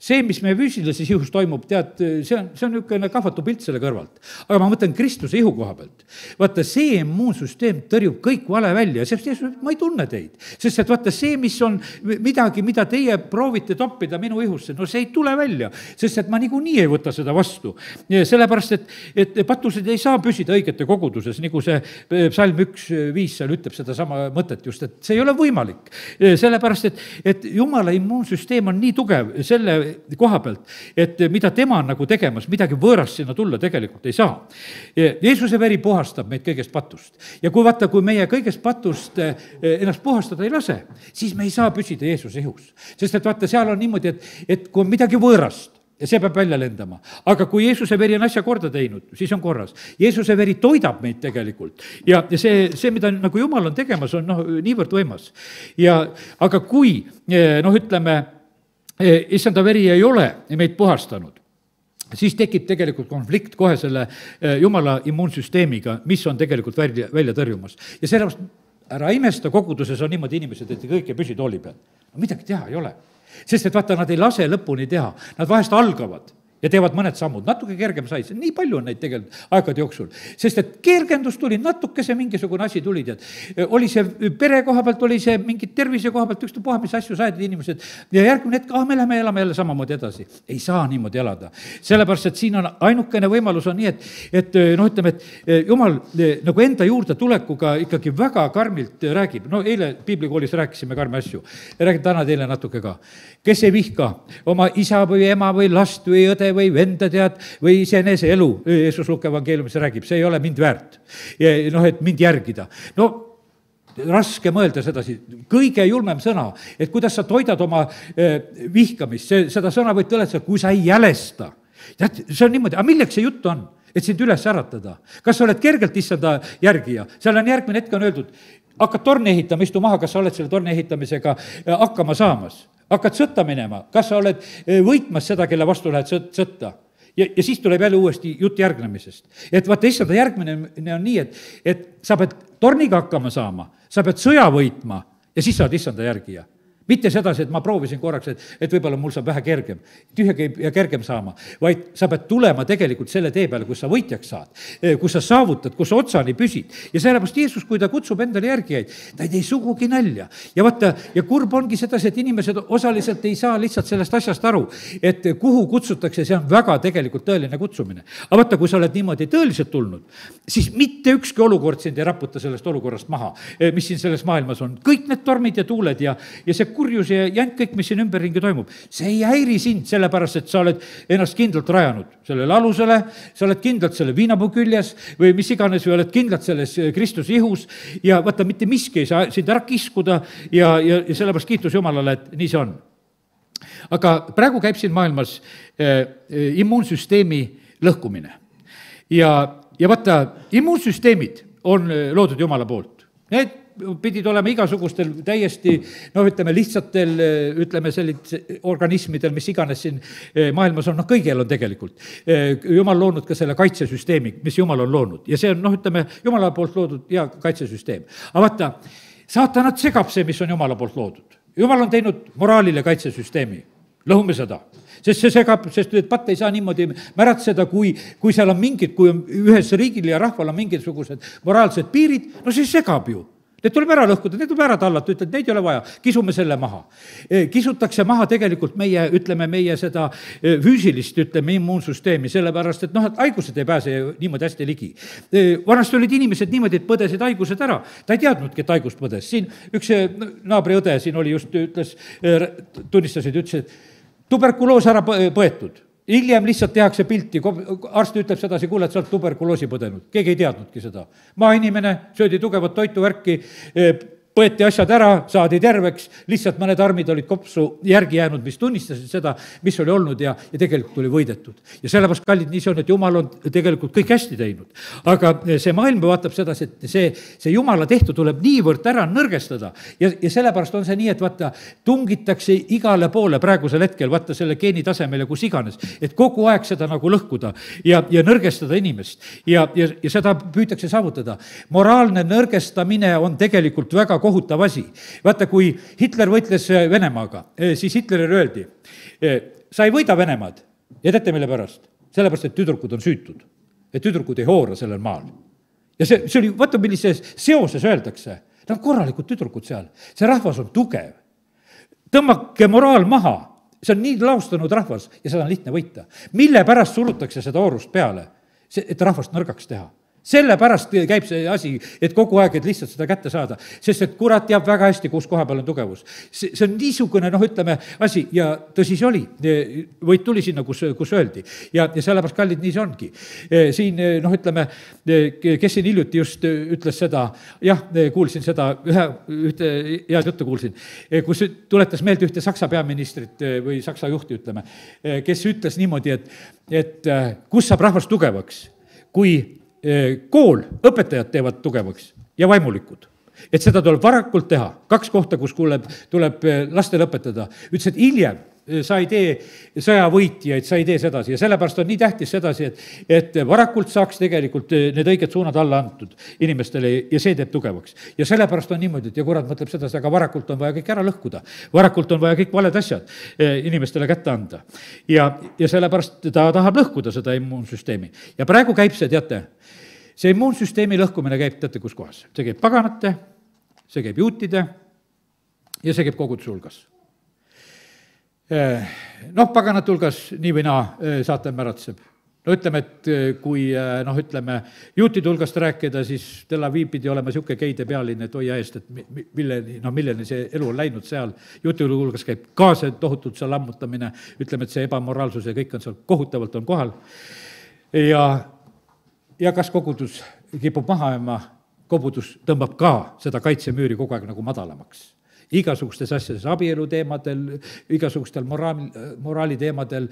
Speaker 1: See, mis meie füüsilises ihus toimub, tead, see on, see on niisugune kahvatu pilt selle kõrvalt. Aga ma mõtlen Kristuse ihu koha pealt. Vaata, see immuunsüsteem tõrjub kõik vale välja, sest ma ei tunne teid. Sest et vaata, see, mis on midagi, mida teie proovite toppida minu ihusse, no see ei tule välja, sest et ma niikuinii ei võta seda vastu. Sellepärast, et, et patused ei saa püsida õigete koguduses, nagu see psalm üks viis seal ütleb seda sama mõtet just, et see ei ole võimalik. Sellepärast, et, et Jumala immuunsüsteem on nii tugev selle koha pealt, et mida tema on nagu tegemas, midagi võõrast sinna tulla tegelikult ei saa. Jeesuse veri puhastab meid kõigest patust. Ja kui vaata, kui meie kõigest patust ennast puhastada ei lase, siis me ei saa püsida Jeesuse ihus. Sest et vaata, seal on niimoodi, et, et kui on midagi võõrast, ja see peab välja lendama. aga kui Jeesuse veri on asja korda teinud, siis on korras. Jeesuse veri toidab meid tegelikult ja, ja see, see, mida nagu Jumal on tegemas, on noh, niivõrd võimas. ja aga kui noh, ütleme, issanda veri ei ole meid puhastanud, siis tekib tegelikult konflikt kohe selle Jumala immuunsüsteemiga, mis on tegelikult välja, välja tõrjumas. ja sellepärast ära imesta, koguduses on niimoodi inimesed, et kõik ei püsi tooli peal. no midagi teha ei ole. sest et vaata, nad ei lase lõpuni teha, nad vahest algavad ja teevad mõned sammud, natuke kergem sai, nii palju on neid tegelikult aegade jooksul. sest et kergendus tuli, natukese mingisugune asi tuli, tead. oli see pere koha pealt, oli see mingi tervise koha pealt, ükstapuha, mis asju said inimesed ja järgmine hetk, ah, me lähme elame jälle samamoodi edasi. ei saa niimoodi elada. sellepärast, et siin on ainukene võimalus on nii, et, et noh, ütleme, et Jumal nagu enda juurde tulekuga ikkagi väga karmilt räägib. no eile piiblikoolis rääkisime karme asju. räägin täna teile natuke ka. kes ei vihka oma isa või ema või last või õde või venda, tead, või iseenese elu, Jeesus Luuke evangeeliumis räägib, see ei ole mind väärt. noh, et mind järgida. no raske mõelda sedasi, kõige julmem sõna, et kuidas sa toidad oma eh, vihkamist, see, seda sõna võid tõletada, kui sa ei jälesta. tead, see on niimoodi, aga milleks see jutt on? et sind üles äratada. kas sa oled kergelt issanda järgija? seal on järgmine hetk on öeldud, hakkad torni ehitama, istu maha, kas sa oled selle torni ehitamisega hakkama saamas? hakkad sõtta minema, kas sa oled võitmas seda, kelle vastu lähed sõt, sõtta? ja, ja siis tuleb jälle uuesti jutt järgnemisest. et vaata, issanda järgmine on nii, et, et sa pead torniga hakkama saama, sa pead sõja võitma ja siis saad issanda järgija. mitte sedasi, et ma proovisin korraks, et, et võib-olla mul saab vähe kergem, tühja ja kergem saama, vaid sa pead tulema tegelikult selle tee peale, kus sa võitjaks saad, kus sa saavutad, kus sa otsani püsid. ja sellepärast Jeesus, kui ta kutsub endale järgijaid, ta ei tee sugugi nalja. ja vaata, ja kurb ongi sedasi, et inimesed osaliselt ei saa lihtsalt sellest asjast aru, et kuhu kutsutakse, see on väga tegelikult tõeline kutsumine. aga vaata, kui sa oled niimoodi tõeliselt tulnud, siis mitte ükski olukord sind ei raputa sellest olukorrast maha, mis siin selles maailmas on. kõik need tormid ja tuuled ja, ja see kurjus ja jant, kõik, mis siin ümberringi toimub, see ei häiri sind, sellepärast et sa oled ennast kindlalt rajanud sellele alusele, sa oled kindlalt selle viinapuu küljes või mis iganes, või oled kindlalt selles Kristuse ihus ja vaata, mitte miski ei saa sind ära kiskuda ja, ja, ja sellepärast kiitus Jumalale, et nii see on. aga praegu käib siin maailmas äh, immuunsüsteemi lõhkumine. ja, ja vaata, immuunsüsteemid on loodud Jumala poolt. Need pidid olema igasugustel täiesti, noh, ütleme lihtsatel, ütleme sellised organismidel, mis iganes siin maailmas on, noh, kõigil on tegelikult. Jumal loonud ka selle kaitsesüsteemi, mis Jumal on loonud ja see on, noh, ütleme, Jumala poolt loodud ja kaitsesüsteem. aga vaata, saatanat segab see, mis on Jumala poolt loodud. Jumal on teinud moraalile kaitsesüsteemi, lõhume seda. sest see segab, sest et patt ei saa niimoodi märatseda, kui, kui seal on mingid, kui on ühes riigil ja rahval on mingisugused moraalsed piirid, no see segab ju. Need tuleb ära lõhkuda, need tuleb ära tallata, ütled, neid ei ole vaja, kisume selle maha. Kisutakse maha tegelikult meie, ütleme, meie seda füüsilist, ütleme, immuunsüsteemi, sellepärast, et noh, et haigused ei pääse niimoodi hästi ligi. Vanasti olid inimesed niimoodi, et põdesid haigused ära, ta ei teadnudki, et haigust põdes. Siin üks naabriõde siin oli just, ütles, tunnistasid, ütles, et tuberkuloos ära põetud. Hiljem lihtsalt tehakse pilti, arst ütleb sedasi, kuule, et sa oled tuberkuloosi põdenud. Keegi ei teadnudki seda. Maainimene, söödi tugevat toitu, värki, põeti asjad ära, saadi terveks, lihtsalt mõned armid olid kopsu järgi jäänud, mis tunnistasid seda, mis oli olnud ja, ja tegelikult oli võidetud. Ja sellepärast, kallid, nii see on, et Jumal on tegelikult kõik hästi teinud. aga see maailm vaatab sedasi, et see, see Jumala tehtu tuleb niivõrd ära nõrgestada ja, ja sellepärast on see nii, et vaata, tungitakse igale poole praegusel hetkel, vaata selle geeni tasemele, kus iganes, et kogu aeg seda nagu lõhkuda ja, ja nõrgestada inimest ja, ja, ja seda püütakse saavutada. Moraalne nõrgestamine on tegelikult väga kohutav asi. Vaata, kui Hitler võitles Venemaaga, siis Hitlerile öeldi, sa ei võida Venemaad. Ja teate, mille pärast? Sellepärast, et tüdrukud on süütud. Et tüdrukud ei hoora sellel maal. Ja see, see oli, vaata, millises seoses öeldakse. Nad on korralikud tüdrukud seal. See rahvas on tugev. Tõmmake moraal maha. See on nii laustanud rahvas ja seda on lihtne võita. Mille pärast surutakse seda oorust peale? See, et rahvast nõrgaks teha. sellepärast käib see asi, et kogu aeg, et lihtsalt seda kätte saada, sest et kurat teab väga hästi, kus koha peal on tugevus. see, see on niisugune, noh, ütleme, asi ja tõsi see oli, võit tuli sinna, kus, kus öeldi ja, ja sellepärast, kallid, nii see ongi. Siin, noh, ütleme, kes siin hiljuti just ütles seda, jah, kuulsin seda, ühe, ühte head juttu kuulsin, kus tuletas meelde ühte Saksa peaministrit või Saksa juhti, ütleme, kes ütles niimoodi, et, et kus saab rahvas tugevaks, kui kool, õpetajad teevad tugevaks ja vaimulikud. Et seda tuleb varakult teha. Kaks kohta, kus tuleb, tuleb lastele õpetada. Ütles, et hiljem sa ei tee sõjavõitjaid, sa ei tee sedasi ja sellepärast on nii tähtis sedasi, et, et varakult saaks tegelikult need õiged suunad alla antud inimestele ja see teeb tugevaks. Ja sellepärast on niimoodi, et ja kurat mõtleb sedasi, aga varakult on vaja kõik ära lõhkuda. Varakult on vaja kõik valed asjad inimestele kätte anda. Ja, ja sellepärast ta tahab lõhkuda seda immuunsüsteemi. Ja praegu käib see, teate, see immuunsüsteemi lõhkumine käib, teate, kus kohas? See käib paganate, see käib juutide ja see käib koguduse hulgas. Noh, paganate hulgas nii või naa saatan märatseb. No ütleme, et kui, noh, ütleme, juutide hulgast rääkida, siis Tel Aviv pidi olema siuke geide pealine, et hoia eest, et milleni, noh, milleni see elu on läinud seal. Juutide hulgas käib ka see tohutult seal lammutamine, ütleme, et see ebamoraalsus ja kõik on seal kohutavalt on kohal. Ja, ja kas kogudus kipub maha jääma, kogudus tõmbab ka seda kaitsemüüri kogu aeg nagu madalamaks. Igasugustes asjades, abielu teemadel, igasugustel moraali, moraali teemadel,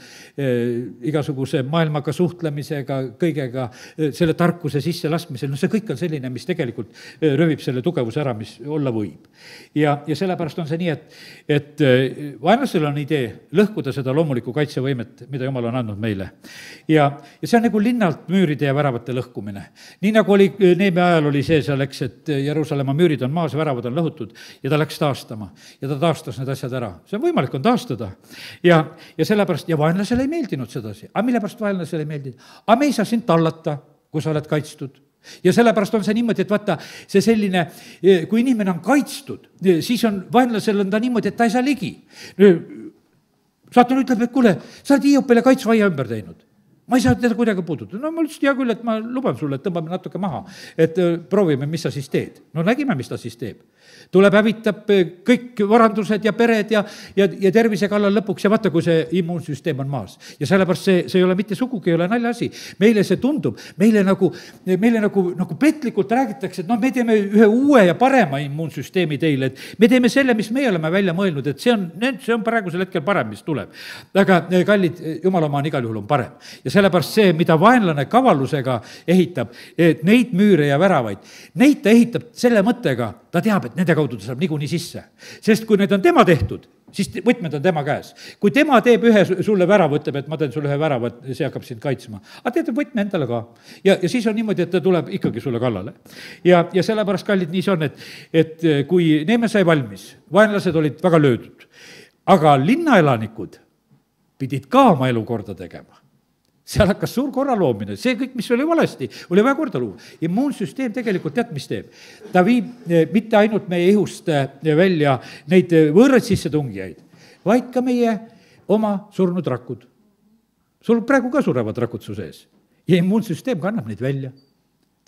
Speaker 1: igasuguse maailmaga suhtlemisega, kõigega, selle tarkuse sisse laskmisel, no see kõik on selline, mis tegelikult rövib selle tugevuse ära, mis olla võib. Ja, ja sellepärast on see nii, et, et vaenlasel on idee lõhkuda seda loomulikku kaitsevõimet, mida Jumal on andnud meile. Ja, ja see on nagu linnalt müüride ja väravate lõhkumine. Nii nagu oli Neemia ajal oli see seal, eks, et Jeruusalemma müürid on maas, väravad on lõhutud ja ta läks taastama. Ja ta taastas need asjad ära. See on võimalik on taastada. Ja, ja sellepärast, ja vaenlasele ei meeldinud sedasi. Aga mille pärast vaenlasele ei meeldinud? Aga me ei saa sind tallata, kui sa oled kaitstud. Ja sellepärast on see niimoodi, et vaata, see selline, kui inimene on kaitstud, siis on vaenlasel on ta niimoodi, et ta ei saa ligi. Saatan ütleb, et kuule, sa oled Hiiopile kaitsvaia ümber teinud. Ma ei saa teda kuidagi puudutada. No ma ütlesin, hea küll, et ma luban sulle, et tõmbame natuke maha, et proovime, mis sa siis teed. No nägime, mis ta siis teeb. Tuleb hävitab kõik varandused ja pered ja, ja, ja tervise kallal lõpuks ja vaata, kui see immuunsüsteem on maas. Ja sellepärast see, see ei ole mitte sugugi, ei ole naljaasi. Meile see tundub, meile nagu, meile nagu, nagu petlikult räägitakse, et noh, me teeme ühe uue ja parema immuunsüsteemi teile, et me teeme selle, mis me oleme välja mõelnud, et see on, see on praegusel hetkel parem, mis tuleb. Aga kallid, Jumala oma on igal juhul on parem. Ja sellepärast see, mida vaenlane kavalusega ehitab, et neid müüre ja väravaid, neid ta ehitab selle mõttega, ta teab, et nende kaudu ta saab niikuinii sisse. Sest kui need on tema tehtud, siis võtmed on tema käes. Kui tema teeb ühe sulle värava, ütleb, et ma teen sulle ühe värava, et see hakkab sind kaitsma. Aga teete võtme endale ka. Ja, ja siis on niimoodi, et ta tuleb ikkagi sulle kallale. Ja, ja sellepärast, kallid, nii see on, et, et kui Neemia sai valmis, vaenlased olid väga löödud, aga linnaelanikud pidid ka oma elu korda tegema. Seal hakkas suur korra loomine, see kõik, mis oli valesti, oli vaja korda luua. Immuunsüsteem tegelikult tead, mis teeb? Ta viib mitte ainult meie ihust välja neid võõraid sissetungijaid, vaid ka meie oma surnud rakud. Sul praegu ka surevad rakud su sees ja immuunsüsteem kannab neid välja.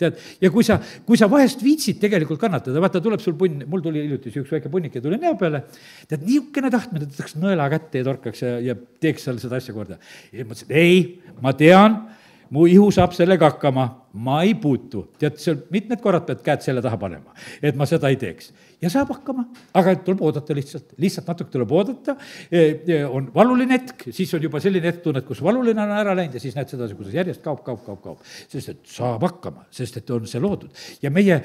Speaker 1: Tead, ja kui sa, kui sa vahest viitsid tegelikult kannatada, vaata, tuleb sul punn, mul tuli hiljuti üks väike punnik ja tuli näo peale, tead, niisugune tahtmine, et tõtaks nõela kätte ja torkaks ja, ja teeks seal seda asja korda. Ja mõtlesin, ei, ma tean, mu ihu saab sellega hakkama, ma ei puutu. Tead, seal mitmed korrad pead käed selle taha panema, et ma seda ei teeks. Ja saab hakkama, aga tuleb oodata lihtsalt, lihtsalt natuke tuleb oodata, on valuline hetk, siis on juba selline hetk tunned, kus valuline on ära läinud ja siis näed sedasi, kus järjest kaob, kaob, kaob, kaob, sest et saab hakkama, sest et on see loodud. Ja meie,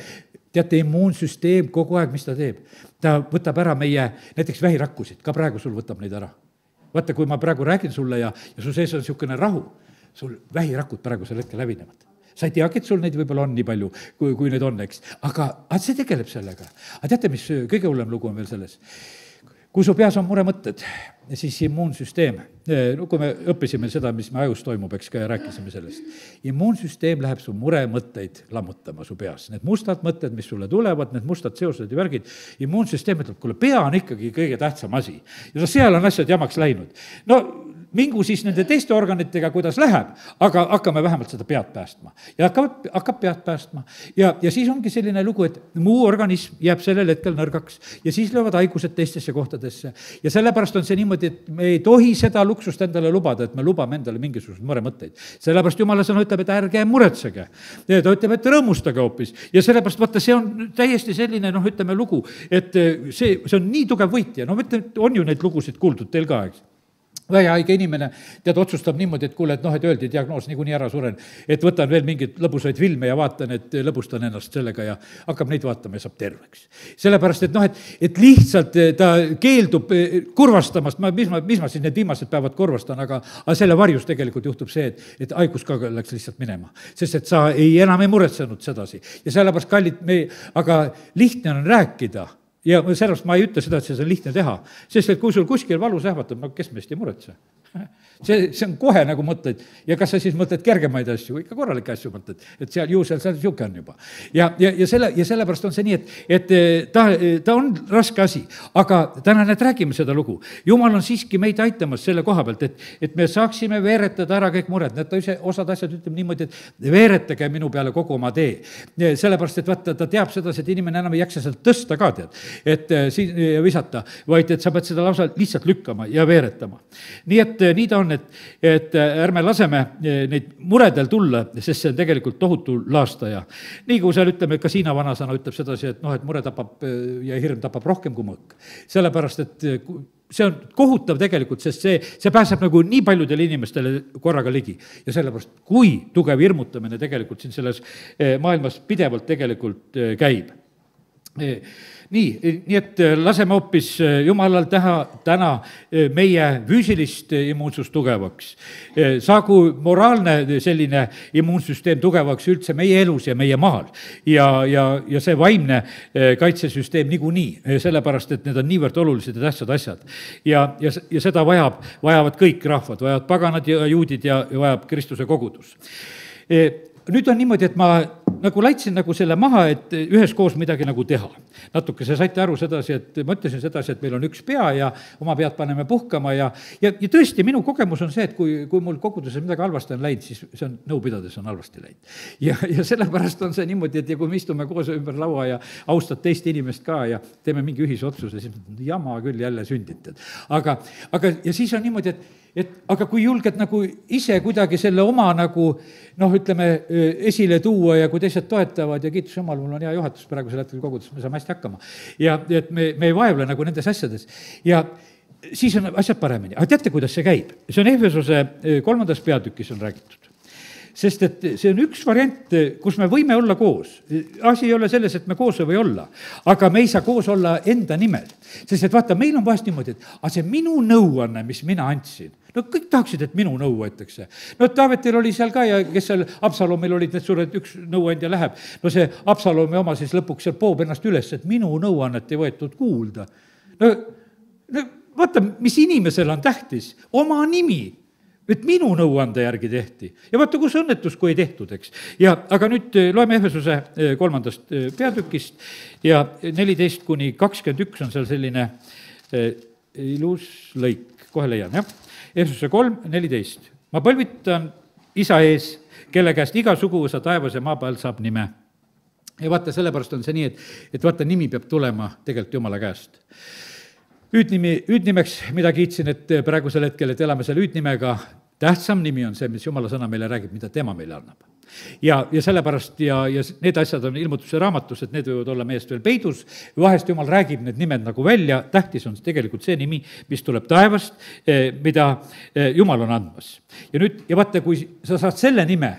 Speaker 1: teate, immuunsüsteem kogu aeg, mis ta teeb, ta võtab ära meie näiteks vähirakkusid, ka praegu sul võtab neid ära. Vaata, kui ma praegu räägin sulle ja, ja su sees on niisugune rahu, sul vähirakud praegusel hetkel hävinevad. Sa ei teagi, et sul neid võib-olla on nii palju, kui, kui need on, eks. Aga, aga see tegeleb sellega. Aga teate, mis kõige hullem lugu on veel selles? Kui su peas on muremõtted, siis immuunsüsteem, no kui me õppisime seda, mis me ajus toimub, eks ka ja rääkisime sellest, immuunsüsteem läheb su muremõtteid lammutama su peas. Need mustad mõtted, mis sulle tulevad, need mustad seosed ja värgid, immuunsüsteem ütleb, kuule, pea on ikkagi kõige tähtsam asi. Ja seal on asjad jamaks läinud. No mingu siis nende teiste organitega, kuidas läheb, aga hakkame vähemalt seda pead päästma. ja hakkab, hakkab pead päästma. ja, ja siis ongi selline lugu, et muu organism jääb sellel hetkel nõrgaks ja siis löövad haigused teistesse kohtadesse. ja sellepärast on see niimoodi, et me ei tohi seda luksust endale lubada, et me lubame endale mingisuguseid muremõtteid. sellepärast Jumala sõna ütleb, et ärge muretsege. ja ta ütleb, et rõõmustage hoopis. ja sellepärast vaata, see on täiesti selline, noh, ütleme lugu, et see, see on nii tugev võitja. no ütleme, on ju neid lugusid kuuldud teil ka, eks. väehaige inimene, tead, otsustab niimoodi, et kuule, et noh, et öeldi diagnoos, niikuinii ära suren, et võtan veel mingeid lõbusaid filme ja vaatan, et lõbustan ennast sellega ja hakkab neid vaatama ja saab terveks. sellepärast, et noh, et, et lihtsalt ta keeldub kurvastamast, ma, mis ma, mis ma siis need viimased päevad kurvastan, aga, aga selle varjus tegelikult juhtub see, et, et haigus ka läks lihtsalt minema. sest et sa ei, enam ei muretsenud sedasi. ja sellepärast, kallid, me, aga lihtne on rääkida. ja sellepärast ma ei ütle seda, et see on lihtne teha, sest et kui sul kuskil valus ähvatab, no kes meist ei muretse? see, see on kohe nagu mõtled ja kas sa siis mõtled kergemaid asju, ikka korralikke asju mõtled, et seal ju seal, seal sihuke on juba. ja, ja, ja selle, ja sellepärast on see nii, et, et ta, ta on raske asi, aga täna need räägime seda lugu. Jumal on siiski meid aitamas selle koha pealt, et, et me saaksime veeretada ära kõik mured, need ta ise, osad asjad ütleb niimoodi, et veeretage minu peale kogu oma tee. sellepärast, et vaata, ta teab sedasi, et inimene enam ei jaksa sealt tõsta ka, tead, et siin visata, vaid et sa pead seda lausa lihtsalt lükkama ja veeretama. nii et nii ta on, et, et ärme laseme neid muredel tulla, sest see on tegelikult tohutu laastaja. nii kui seal ütleme, ka Hiina vanasõna ütleb sedasi, et noh, et mure tapab ja hirm tapab rohkem kui mõõk. sellepärast, et see on kohutav tegelikult, sest see, see pääseb nagu nii paljudele inimestele korraga ligi. ja sellepärast, kui tugev hirmutamine tegelikult siin selles maailmas pidevalt tegelikult käib. nii, nii et laseme hoopis Jumalal teha täna meie füüsilist immuunsust tugevaks. Saagu moraalne selline immuunsüsteem tugevaks üldse meie elus ja meie maal. Ja, ja, ja see vaimne kaitsesüsteem niikuinii, sellepärast, et need on niivõrd olulised ja tähtsad asjad. Ja, ja, ja seda vajab, vajavad kõik rahvad, vajavad paganad ja juudid ja, ja vajab Kristuse kogudus. Nüüd on niimoodi, et ma nagu laitsin nagu selle maha, et üheskoos midagi nagu teha. natuke see saite aru sedasi, et ma ütlesin sedasi, et meil on üks pea ja oma pead paneme puhkama ja, ja, ja tõesti, minu kogemus on see, et kui, kui mul koguduses midagi halvasti on läinud, siis see on nõu pidades on halvasti läinud. Ja, ja sellepärast on see niimoodi, et ja kui me istume koos ümber laua ja austad teist inimest ka ja teeme mingi ühise otsuse, siis jama küll jälle sündid. Aga, aga ja siis on niimoodi, et et aga kui julged nagu ise kuidagi selle oma nagu noh, ütleme, esile tuua ja kui teised toetavad ja kiitus Jumal, mul on hea juhatus praegusel hetkel kogudus, me saame hästi hakkama. Ja et me, me ei vaevle nagu nendes asjades. Ja siis on asjad paremini. Aga teate, kuidas see käib? See on Efesuse kolmandas peatükis on räägitud. Sest et see on üks variant, kus me võime olla koos. Asi ei ole selles, et me koos ei või olla, aga me ei saa koos olla enda nimel. Sest et vaata, meil on vahest niimoodi, et aga see minu nõuanne, mis mina andsin, no kõik tahaksid, et minu nõu võetakse. No Taavetil oli seal ka ja kes seal Absalomil olid need suured, üks nõuandja läheb. No see Absalomi oma siis lõpuks seal poob ennast üles, et minu nõuannet ei võetud kuulda. No, no vaata, mis inimesel on tähtis, oma nimi. Et minu nõuande järgi tehti. Ja vaata, kus õnnetus, kui ei tehtud, eks. Ja, aga nüüd loeme Efesuse kolmandast peatükist ja neliteist kuni kakskümmend üks on seal selline ilus lõik. Kohe leian, jah. Efesuse kolm, neliteist. Ma põlvitan isa ees, kelle käest iga suguvõsa taevas ja maa peal saab nime. Ja vaata, sellepärast on see nii, et, et vaata, nimi peab tulema tegelikult Jumala käest. Hüüdnimi, hüüdnimeks, mida kiitsin, et praegusel hetkel, et elame selle hüüdnimega, tähtsam nimi on see, mis Jumala sõna meile räägib, mida tema meile annab. Ja, ja sellepärast ja, ja need asjad on ilmutuse raamatus, et need võivad olla meest veel peidus, vahest Jumal räägib need nimed nagu välja, tähtis on tegelikult see nimi, mis tuleb taevast, mida Jumal on andmas. Ja nüüd, ja vaata, kui sa saad selle nime,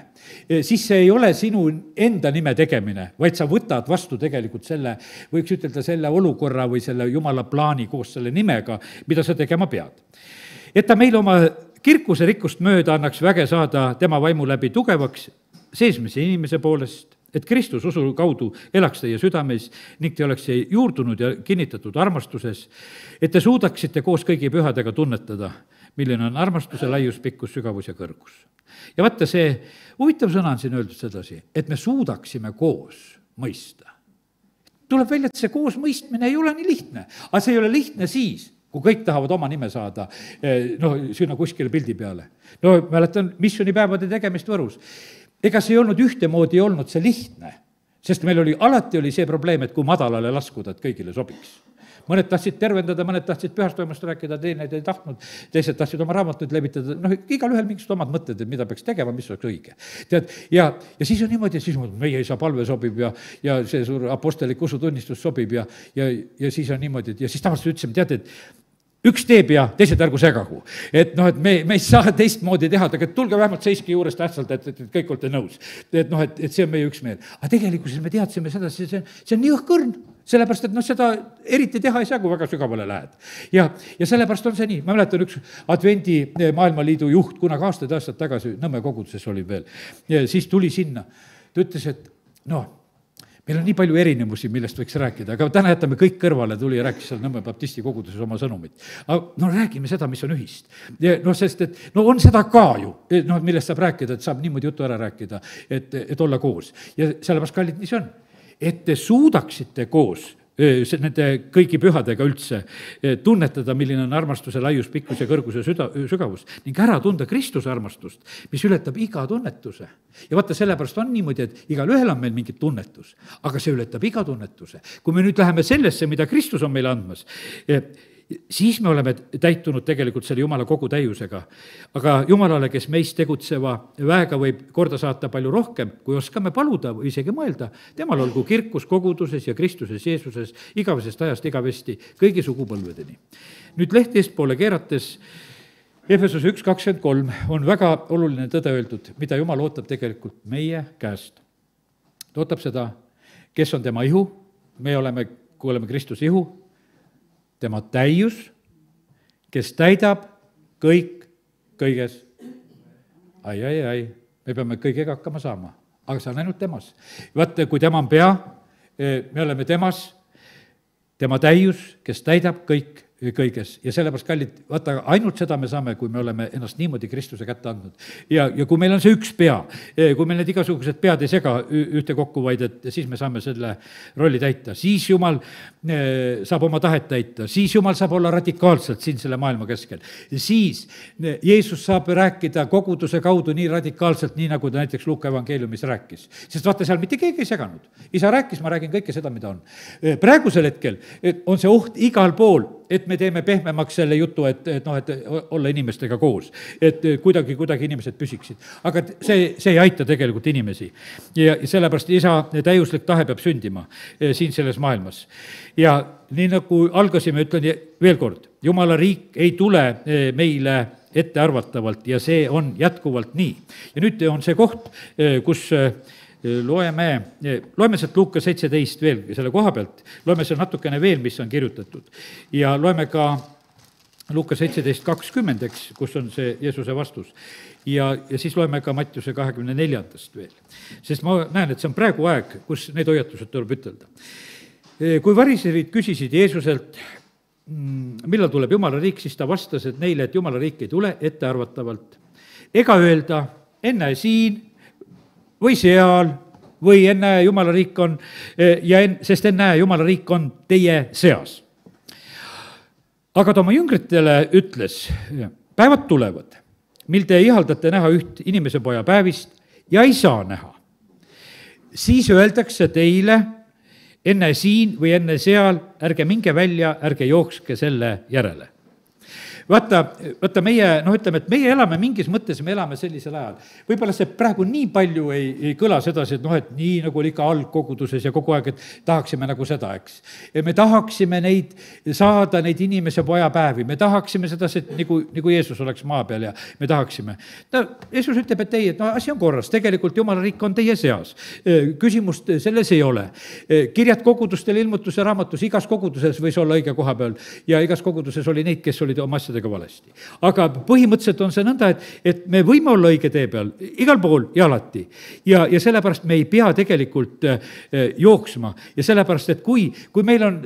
Speaker 1: siis see ei ole sinu enda nime tegemine, vaid sa võtad vastu tegelikult selle, võiks ütelda selle olukorra või selle Jumala plaani koos selle nimega, mida sa tegema pead. Et ta meil oma kirkuse rikkust mööda annaks väge saada tema vaimu läbi tugevaks seesmise inimese poolest, et Kristus usu kaudu elaks teie südames ning te oleks juurdunud ja kinnitatud armastuses, et te suudaksite koos kõigi pühadega tunnetada, milline on armastuse laius, pikkus, sügavus ja kõrgus. Ja vaata, see huvitav sõna on siin öeldud sedasi, et me suudaksime koos mõista. Tuleb välja, et see koos mõistmine ei ole nii lihtne, aga see ei ole lihtne siis, kui kõik tahavad oma nime saada, noh, sinna kuskile pildi peale. no mäletan missioonipäevade tegemist Võrus. ega see ei olnud ühtemoodi, ei olnud see lihtne, sest meil oli, alati oli see probleem, et kui madalale laskuda, et kõigile sobiks. mõned tahtsid tervendada, mõned tahtsid pühast toimust rääkida, teineid ei tahtnud, teised tahtsid oma raamatuid levitada, noh, igalühel mingisugused omad mõtted, et mida peaks tegema, mis oleks õige. tead, ja, ja siis on niimoodi, siis meie isa palve sobib ja, ja see suur apostellik usutunnistus sobib ja, ja, ja siis on niimoodi, ja siis tavaliselt ütlesime, tead, et üks teeb ja teised ärgu segagu. et noh, et me, me ei saa teistmoodi teha, aga tulge vähemalt seiski juures tähtsalt, et, et, et kõik olete nõus. et noh, et, et see on meie üksmeel. aga tegelikkuses me teadsime seda, see, see, see on nii õhkõrn, sellepärast, et noh, seda eriti teha ei saa, kui väga sügavale lähed. ja, ja sellepärast on see nii, ma mäletan üks Advendi Maailmaliidu juht, kunagi aastaid aastad tagasi, Nõmme koguduses oli veel, siis tuli sinna, ta ütles, et noh, meil on nii palju erinevusi, millest võiks rääkida, aga täna jätame kõik kõrvale, tuli ja rääkis seal Nõmme baptisti koguduses oma sõnumit. aga no räägime seda, mis on ühist. noh, sest et no on seda ka ju, noh, millest saab rääkida, et saab niimoodi jutu ära rääkida, et, et olla koos. ja sellepärast, kallid, nii see on, et te suudaksite koos nende kõigi pühadega üldse tunnetada, milline on armastuse laius, pikkus ja kõrgus ja süda, sügavus ning ära tunda Kristuse armastust, mis ületab iga tunnetuse. ja vaata, sellepärast on niimoodi, et igalühel on meil mingi tunnetus, aga see ületab iga tunnetuse. kui me nüüd läheme sellesse, mida Kristus on meile andmas, siis me oleme täitunud tegelikult selle Jumala kogu täiusega. aga Jumalale, kes meist tegutseva väega võib korda saata palju rohkem, kui oskame paluda või isegi mõelda, temal olgu kirkus koguduses ja Kristuses Jeesuses igavesest ajast igavesti kõigi sugupõlvedeni. nüüd leht eestpoole keerates, Efesuse üks kakskümmend kolm on väga oluline tõde öeldud, mida Jumal ootab tegelikult meie käest. ta ootab seda, kes on tema ihu, me oleme, kui oleme Kristuse ihu, tema täius, kes täidab kõik kõiges. ai, ai, ai, me peame kõigega hakkama saama, aga see on ainult temas. vaata, kui tema on pea, me oleme temas, tema täius, kes täidab kõik kõiges. ja sellepärast, kallid, vaata, ainult seda me saame, kui me oleme ennast niimoodi Kristuse kätte andnud. ja, ja kui meil on see üks pea, kui meil need igasugused pead ei sega ühtekokku, vaid et siis me saame selle rolli täita, siis Jumal saab oma tahet täita, siis Jumal saab olla radikaalselt siin selle maailma keskel. siis Jeesus saab rääkida koguduse kaudu nii radikaalselt, nii nagu ta näiteks Luuka evangeeliumis rääkis. sest vaata, seal mitte keegi ei seganud. isa rääkis, ma räägin kõike seda, mida on. praegusel hetkel on see oht igal pool, et me teeme pehmemaks selle jutu, et, et noh, et olla inimestega koos. Et kuidagi, kuidagi inimesed püsiksid. aga see, see ei aita tegelikult inimesi. ja sellepärast isa täiuslik tahe peab sündima siin selles maailmas. ja nii nagu algasime, ütlen veel kord, Jumala riik ei tule meile ettearvatavalt ja see on jätkuvalt nii. ja nüüd on see koht, kus loeme, loeme sealt Luuka seitseteist veel selle koha pealt, loeme seal natukene veel, mis on kirjutatud. ja loeme ka Luuka seitseteist kakskümmend, eks, kus on see Jeesuse vastus. ja, ja siis loeme ka Mattiuse kahekümne neljandast veel. sest ma näen, et see on praegu aeg, kus need hoiatused tuleb ütelda. kui variserid küsisid Jeesuselt, millal tuleb Jumala riik, siis ta vastas, et neile, et Jumala riik ei tule ettearvatavalt. ega öelda enne siin või seal, või ennäe, Jumala riik on, ja en, sest ennäe, Jumala riik on teie seas. aga ta oma jüngritele ütles, päevad tulevad, mil te ihaldate näha üht inimese poja päevist ja ei saa näha. siis öeldakse teile, enne siin või enne seal, ärge minge välja, ärge jookske selle järele. vaata, vaata meie, noh, ütleme, et meie elame mingis mõttes, me elame sellisel ajal. võib-olla see praegu nii palju ei, ei kõla sedasi, et noh, et nii nagu oli ikka algkoguduses ja kogu aeg, et tahaksime nagu seda, eks. me tahaksime neid, saada neid inimese pojapäevi, me tahaksime sedasi, et nagu, nagu Jeesus oleks maa peal ja me tahaksime. no Jeesus ütleb, et ei, et no asi on korras, tegelikult Jumala riik on teie seas. küsimust selles ei ole. kirjad kogudustel ilmutuse raamatus, igas koguduses võis olla õige koha peal ja igas koguduses oli neid, kes olid oma asjadega valesti. aga põhimõtteliselt on see nõnda, et, et me võime olla õige tee peal igal pool ja alati. ja, ja sellepärast me ei pea tegelikult äh, jooksma ja sellepärast, et kui, kui meil on,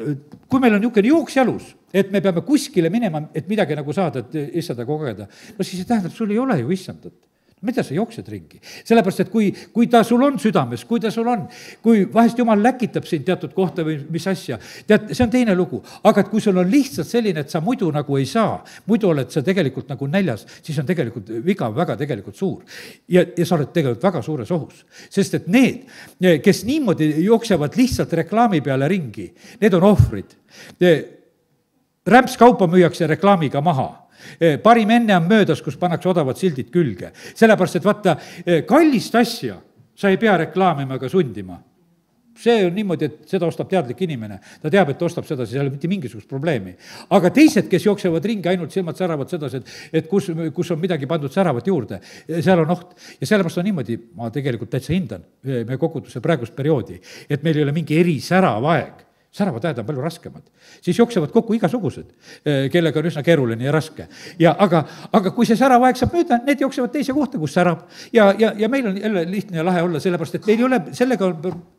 Speaker 1: kui meil on niisugune jooks jalus, et me peame kuskile minema, et midagi nagu saada, et issanda kogeda, no siis see tähendab, sul ei ole ju issandat. mida sa jooksed ringi? sellepärast, et kui, kui ta sul on südames, kui ta sul on, kui vahest jumal läkitab sind teatud kohta või mis asja, tead, see on teine lugu. aga et kui sul on lihtsalt selline, et sa muidu nagu ei saa, muidu oled sa tegelikult nagu näljas, siis on tegelikult viga väga tegelikult suur. ja, ja sa oled tegelikult väga suures ohus. sest et need, kes niimoodi jooksevad lihtsalt reklaami peale ringi, need on ohvrid. Rämpskaupa müüakse reklaamiga maha. parim enne on möödas, kus pannakse odavad sildid külge. sellepärast, et vaata, kallist asja sa ei pea reklaamima ega sundima. see on niimoodi, et seda ostab teadlik inimene. ta teab, et ta ostab seda, siis ei ole mitte mingisugust probleemi. aga teised, kes jooksevad ringi, ainult silmad säravad sedasi, et, et kus, kus on midagi pandud säravat juurde, seal on oht. ja sellepärast on niimoodi, ma tegelikult täitsa hindan meie koguduse praegust perioodi, et meil ei ole mingi erisärav aeg. säravad ajad on palju raskemad. siis jooksevad kokku igasugused, kellega on üsna keeruline ja raske. ja aga, aga kui see särav aeg saab mööda, need jooksevad teise kohta, kus särab. ja, ja, ja meil on jälle lihtne ja lahe olla, sellepärast et meil ei ole sellega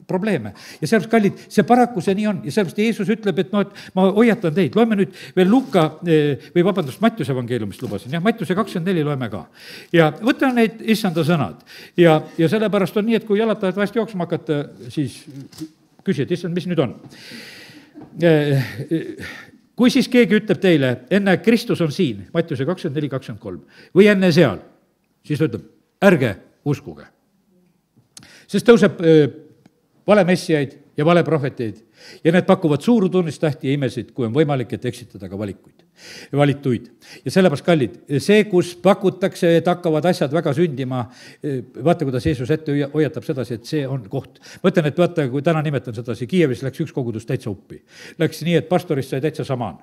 Speaker 1: probleeme. ja sellepärast, kallid, see paraku see nii on. ja sellepärast Jeesus ütleb, et noh, et ma hoiatan teid. loeme nüüd veel Luka või vabandust, Mattiuse evangeeliumist lubasin. jah, Mattiuse kakskümmend neli loeme ka. ja võta neid issanda sõnad. ja, ja sellepärast on nii, et kui jalatajad vahest jooksma hakata, siis küsi, et issand, mis nüüd on? Kui siis keegi ütleb teile, enne Kristus on siin, Mattiuse kakskümmend neli, kakskümmend kolm, või enne seal, siis ütleb, ärge uskuge. Sest tõuseb valemessijaid ja valeprohveteid ja need pakuvad suuru tunnistähti ja imesid, kui on võimalik, et eksitada ka valikuid, valituid. ja sellepärast, kallid, see, kus pakutakse, et hakkavad asjad väga sündima, vaata, kuidas Jeesus ette hoiatab sedasi, et see on koht. ma ütlen, et vaata, kui täna nimetan sedasi, Kiievis läks üks kogudus täitsa uppi. Läks nii, et pastorist sai täitsa samaan.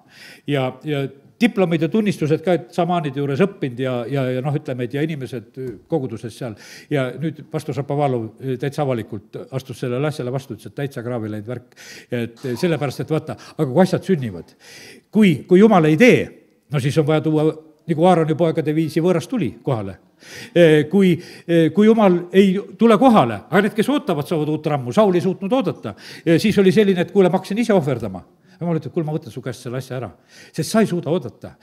Speaker 1: ja, ja diplomid ja tunnistused ka, et samaanide juures õppinud ja, ja, ja noh, ütleme, et ja inimesed koguduses seal. ja nüüd pastor Šapovalov täitsa avalikult astus sellele asjale vastu, ütles, et täitsa kraavi läinud värk. et sellepärast, et vaata, aga kui asjad sünnivad, kui, kui jumal ei tee, no siis on vaja tuua, nagu Aaroni poegade viisi võõras tuli kohale. Kui, kui jumal ei tule kohale, aga need, kes ootavad, saavad uut rammu, Saul ei suutnud oodata, siis oli selline, et kuule, ma hakkasin ise ohverdama. jumal ütleb, kuule, ma võtan su käest selle asja ära, sest sa ei suuda oodata.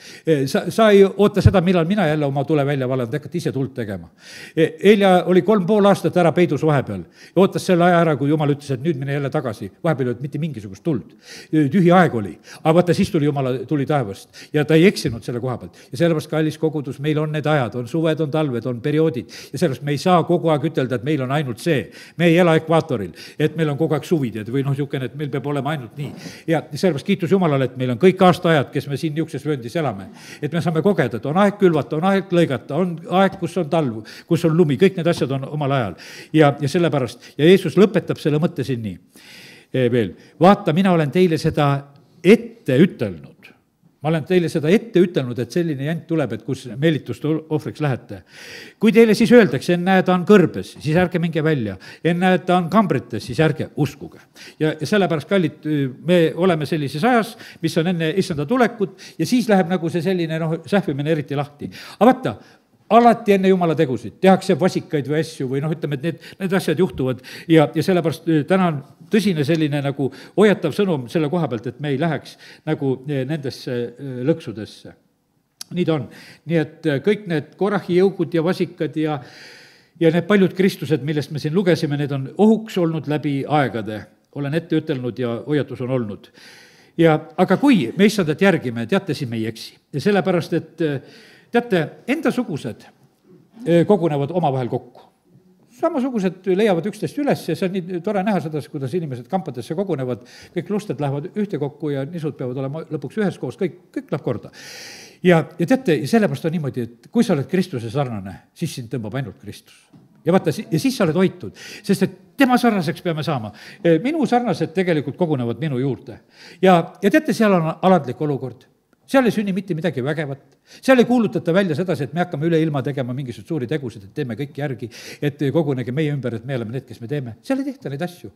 Speaker 1: Sa, sa ei oota seda, millal mina jälle oma tule välja valan, te hakkate ise tuld tegema. Eelja oli kolm pool aastat ära peidus vahepeal ja ootas selle aja ära, kui jumal ütles, et nüüd mine jälle tagasi. Vahepeal ei olnud mitte mingisugust tuld. Tühi aeg oli, aga vaata, siis tuli jumala, tuli taevast ja ta ei eksinud selle koha pealt. Ja sellepärast, kallis kogudus, meil on need ajad, on suved, on talved, on perioodid ja sellepärast me ei saa kogu aeg ütelda, et meil on ainult see. Me ei ela ekvaatoril, et meil on kogu aeg suvid või noh, niisugune, et meil peab olema ainult nii. Ja sellepärast kiitus Jumalale, et meil on kõik aastaajad, kes me siin niisuguses vööndis elame. Et me saame kogeda, et on aeg külvata, on aeg lõigata, on aeg, kus on talv, kus on lumi, kõik need asjad on omal ajal. Ja, ja sellepärast, ja Jeesus lõpetab selle mõtte siin nii e, veel. Vaata, mina olen teile seda ette ütelnud. Ma olen teile seda ette ütelnud, et selline jant tuleb, et kus meelitust ohvriks lähete. Kui teile siis öeldakse, ennäe, ta on kõrbes, siis ärge minge välja. Ennäe, ta on kambrites, siis ärge uskuge. Ja, ja sellepärast, kallid, me oleme sellises ajas, mis on enne issanda tulekut ja siis läheb nagu see selline noh, sähvimine eriti lahti. Aga vaata, alati enne jumala tegusid tehakse vasikaid või asju või noh, ütleme, et need, need asjad juhtuvad ja, ja sellepärast täna on tõsine selline nagu hoiatav sõnum selle koha pealt, et me ei läheks nagu nendesse lõksudesse. Nii ta on. Nii et kõik need Korahi jõugud ja vasikad ja, ja need paljud Kristused, millest me siin lugesime, need on ohuks olnud läbi aegade. Olen ette ütelnud ja hoiatus on olnud. Ja, aga kui me issandat järgime, teate, siin me ei eksi. Ja sellepärast, et teate, endasugused kogunevad omavahel kokku. Samasugused leiavad üksteist üles ja see on nii tore näha seda, kuidas inimesed kampadesse kogunevad, kõik lusted lähevad ühte kokku ja nisud peavad olema lõpuks ühes koos, kõik, kõik läheb korda. Ja, ja teate, sellepärast on niimoodi, et kui sa oled Kristuse sarnane, siis sind tõmbab ainult Kristus. Ja vaata, ja siis sa oled hoitud, sest et tema sarnaseks peame saama. Minu sarnased tegelikult kogunevad minu juurde. Ja, ja teate, seal on alandlik olukord. Seal ei sünni mitte midagi vägevat. Seal ei kuulutata välja sedasi, et me hakkame üle ilma tegema mingisugused suuri tegusid, et teeme kõik järgi, et kogunege meie ümber, et me oleme need, kes me teeme. Seal ei tehta neid asju.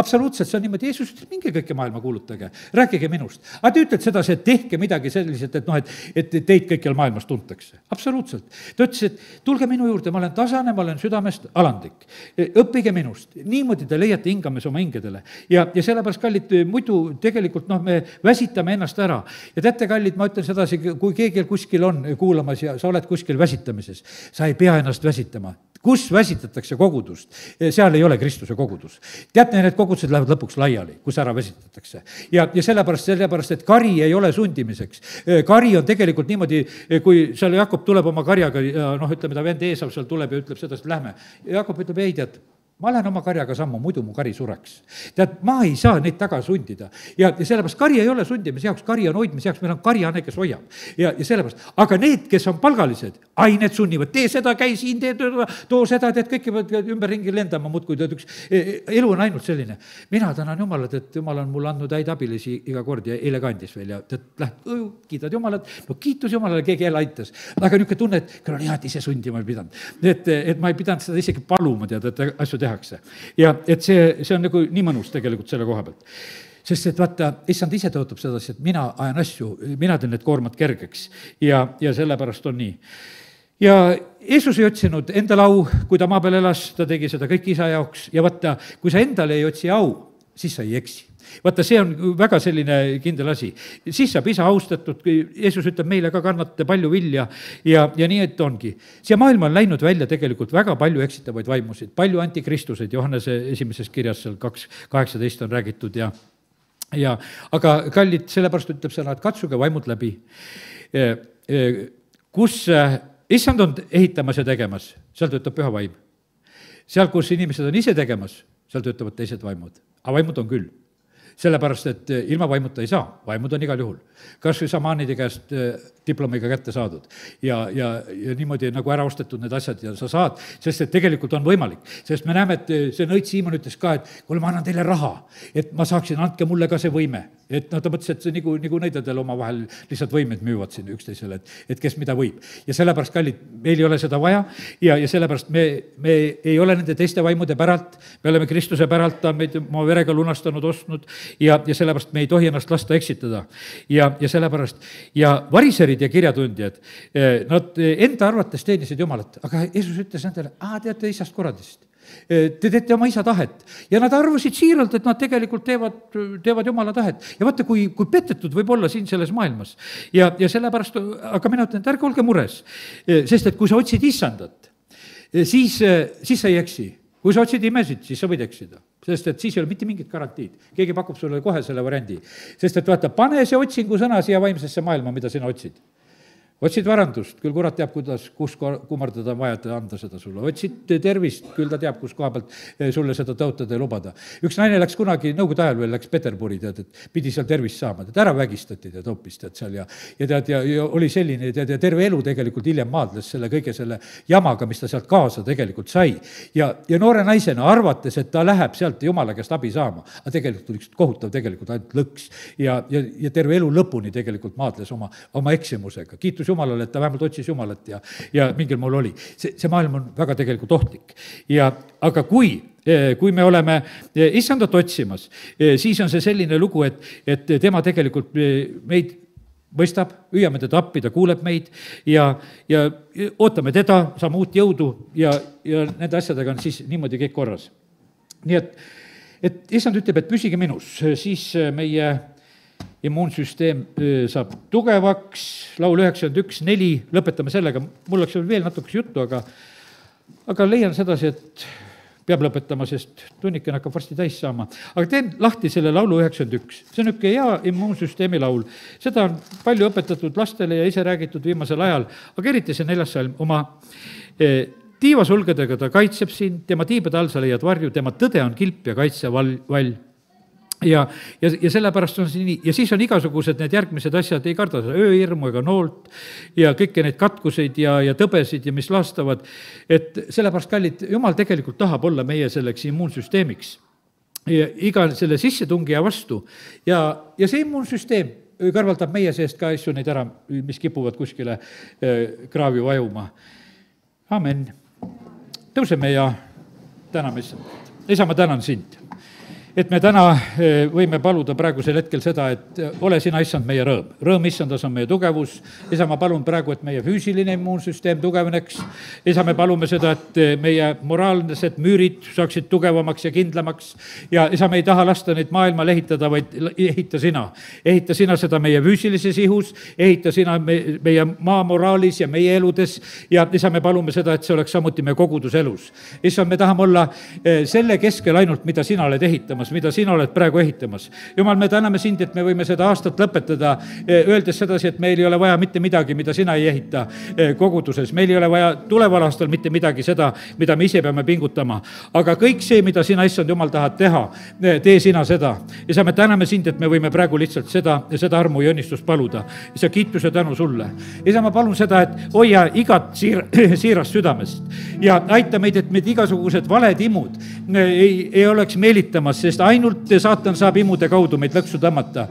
Speaker 1: Absoluutselt, see on niimoodi, Jeesus ütleb, minge kõike maailma kuulutage, rääkige minust. Aga te ütled sedasi, et tehke midagi selliselt, et noh, et, et teid kõikjal maailmas tuntakse. Absoluutselt. Ta ütles, et tulge minu juurde, ma olen tasane, ma olen südamest alandlik. Õppige minust. Niimoodi te leiate hingames oma hingedele. Ja, ja sellepärast, kallid, muidu tegelikult noh, me väsitame ennast ära. Ja teate, kallid, kallid, ma ütlen sedasi, kui keegi kuskil on kuulamas ja sa oled kuskil väsitamises, sa ei pea ennast väsitama. Kus väsitatakse kogudust, seal ei ole Kristuse kogudus. Teate, need kogudused lähevad lõpuks laiali, kus ära väsitatakse. Ja, ja sellepärast, sellepärast, et kari ei ole sundimiseks. Kari on tegelikult niimoodi, kui seal Jakob tuleb oma karjaga ja noh, ütleme, ta vend Eesav seal tuleb ja ütleb seda, et lähme. Jakob ütleb, ei tead, ma lähen oma karjaga sammu, muidu mu kari sureks. Tead, ma ei saa neid taga sundida. Ja, ja sellepärast kari ei ole sundimise jaoks, kari on hoidmise jaoks, meil on karjane, kes hoiab. Ja, ja sellepärast, aga need, kes on palgalised, ai, need sunnivad, tee seda, käi siin, tee, too seda, teed, kõik peavad ümber ringi lendama, muudkui tead, üks elu on ainult selline. Mina tänan Jumalat, et Jumal on mulle andnud häid abilisi iga kord ja eile kandis veel ja tead, lähed, kiidad Jumalat, no kiitus Jumalale, keegi jälle aitas. Aga niisugune tunne, et küll on hea, et ise sundima ei pidanud. Et, et ma ei pidanud seda isegi paluma, tead, et asju tehakse. Ja et see, see on nagu nii mõnus tegelikult selle koha pealt. Sest et vaata, issand ise tõotab sedasi, et mina ajan asju, mina teen need koormad kergeks ja, ja sellepärast on nii. Ja Jeesus ei otsinud endale au, kui ta maa peal elas, ta tegi seda kõik isa jaoks ja vaata, kui sa endale ei otsi au, siis sa ei eksi. Vaata, see on väga selline kindel asi. Siis saab isa austatud, Jeesus ütleb meile ka kannate palju vilja ja, ja nii, et ongi. Siia maailma on läinud välja tegelikult väga palju eksitavaid vaimusid, palju antikristuseid, Johannese esimeses kirjas seal kaks kaheksateist on räägitud ja, ja aga kallid, sellepärast ütleb sõna, et katsuge vaimud läbi. Kus issand on ehitamas ja tegemas, seal töötab püha vaim. Seal, kus inimesed on ise tegemas, seal töötavad teised vaimud, aga vaimud on küll. Sellepärast, et ilma vaimuta ei saa, vaimud on igal juhul. Kas või samaanide käest diplomiga kätte saadud ja, ja, ja niimoodi nagu ära ostetud need asjad ja sa saad, sest et tegelikult on võimalik. Sest me näeme, et see nõid Siimon ütles ka, et kuule, ma annan teile raha, et ma saaksin, andke mulle ka see võime. Et no ta mõtles, et see nagu, nagu nõidadel oma vahel lihtsalt võimed müüvad siin üksteisele, et, et kes mida võib. Ja sellepärast, kallid, meil ei ole seda vaja ja, ja sellepärast me, me ei ole nende teiste vaimude päralt, me oleme Kristuse päralt, ta on meid oma verega lunastanud, ostnud ja, ja sellepärast me ei tohi ennast lasta eksitada. Ja, ja sellepärast, ja variserid ja kirjatundjad, nad enda arvates teenisid Jumalat, aga Jeesus ütles nendele, aa, teate isast korradist. Te teete oma isa tahet. Ja nad arvasid siiralt, et nad tegelikult teevad, teevad Jumala tahet. Ja vaata, kui, kui petetud võib olla siin selles maailmas. Ja, ja sellepärast, aga mina ütlen, et ärge olge mures. Sest et kui sa otsid issandat, siis, siis sa ei eksi. Kui sa otsid imesid, siis sa võid eksida. Sest et siis ei ole mitte mingit garantiid. Keegi pakub sulle kohe selle variandi. Sest et vaata, pane see otsingu sõna siia vaimsesse maailma, mida sina otsid. Otsid varandust, küll kurat teab, kuidas, kus kummardada on vaja, et anda seda sulle. Otsid tervist, küll ta teab, kus koha pealt sulle seda tõotada ja lubada. Üks naine läks kunagi, nõukogude ajal veel läks Peterburi, tead, et pidi seal tervist saama, tead, ära vägistati, tead, hoopis, tead, seal ja, ja tead, ja, ja oli selline, tead, ja terve elu tegelikult hiljem maadles selle kõige selle jamaga, mis ta sealt kaasa tegelikult sai. Ja, ja noore naisena arvates, et ta läheb sealt Jumala käest abi saama, aga tegelikult oli kohutav tegelikult ainult lõks ja, ja, ja terve elu lõpuni tegelikult maadles oma, oma eksimusega. Kiitus Jumalale, et ta vähemalt otsis Jumalat ja, ja mingil moel oli. See, see maailm on väga tegelikult ohtlik. Ja, aga kui, kui me oleme issandat otsimas, siis on see selline lugu, et, et tema tegelikult meid mõistab, hüüame teda appi, ta kuuleb meid ja, ja ootame teda, saame uut jõudu ja, ja nende asjadega on siis niimoodi kõik korras. Nii et, et issand ütleb, et püsige minus, siis meie immuunsüsteem saab tugevaks, laul üheksakümmend üks neli, lõpetame sellega, mul oleks veel natuke juttu, aga, aga leian sedasi, et peab lõpetama, sest tunniken hakkab varsti täis saama. Aga teen lahti selle laulu üheksakümmend üks. See on üks hea immuunsüsteemi laul. Seda on palju õpetatud lastele ja ise räägitud viimasel ajal, aga eriti see neljas salm oma eh, tiivasulgedega ta kaitseb sind, tema tiibade all sa leiad varju, tema tõde on kilp ja kaitsevall, vall. Ja, ja, ja sellepärast on see nii, ja siis on igasugused need järgmised asjad, ei karda ööhirmu ega noolt ja kõiki neid katkuseid ja, ja tõbesid ja mis lastavad, et sellepärast, kallid, Jumal tegelikult tahab olla meie selleks immuunsüsteemiks ja iga selle sissetungija vastu ja, ja see immuunsüsteem kõrvaldab meie seest ka asju neid ära, mis kipuvad kuskile kraavi vajuma. Amen. Tõuseme ja täname issand. Isa, ma tänan sind. et me täna võime paluda praegusel hetkel seda, et ole sina, issand, meie rõõm. Rõõm issandas on meie tugevus. isa, ma palun praegu, et meie füüsiline immuunsüsteem tugevneks. isa, me palume seda, et meie moraalsed müürid saaksid tugevamaks ja kindlamaks. ja isa, me ei taha lasta neid maailmal ehitada, vaid ehita sina. ehita sina seda meie füüsilises ihus, ehita sina me, meie maa moraalis ja meie eludes. ja isa, me palume seda, et see oleks samuti meie koguduselus. issand, me tahame olla selle keskel ainult, mida sina oled ehitamas, mida sina oled praegu ehitamas. Jumal, me täname sind, et me võime seda aastat lõpetada, öeldes sedasi, et meil ei ole vaja mitte midagi, mida sina ei ehita koguduses. meil ei ole vaja tuleval aastal mitte midagi seda, mida me ise peame pingutama. aga kõik see, mida sina, issand Jumal, tahad teha, tee sina seda. isa, me täname sind, et me võime praegu lihtsalt seda, seda armu ja õnnistust paluda. isa, kiitus ja tänu sulle. isa, ma palun seda, et hoia igat siir, siirast südamest ja aita meid, et meid igasugused valed imud ei, ei oleks meelitamas, sest ainult saatan saab imude kaudu meid lõksu tõmmata.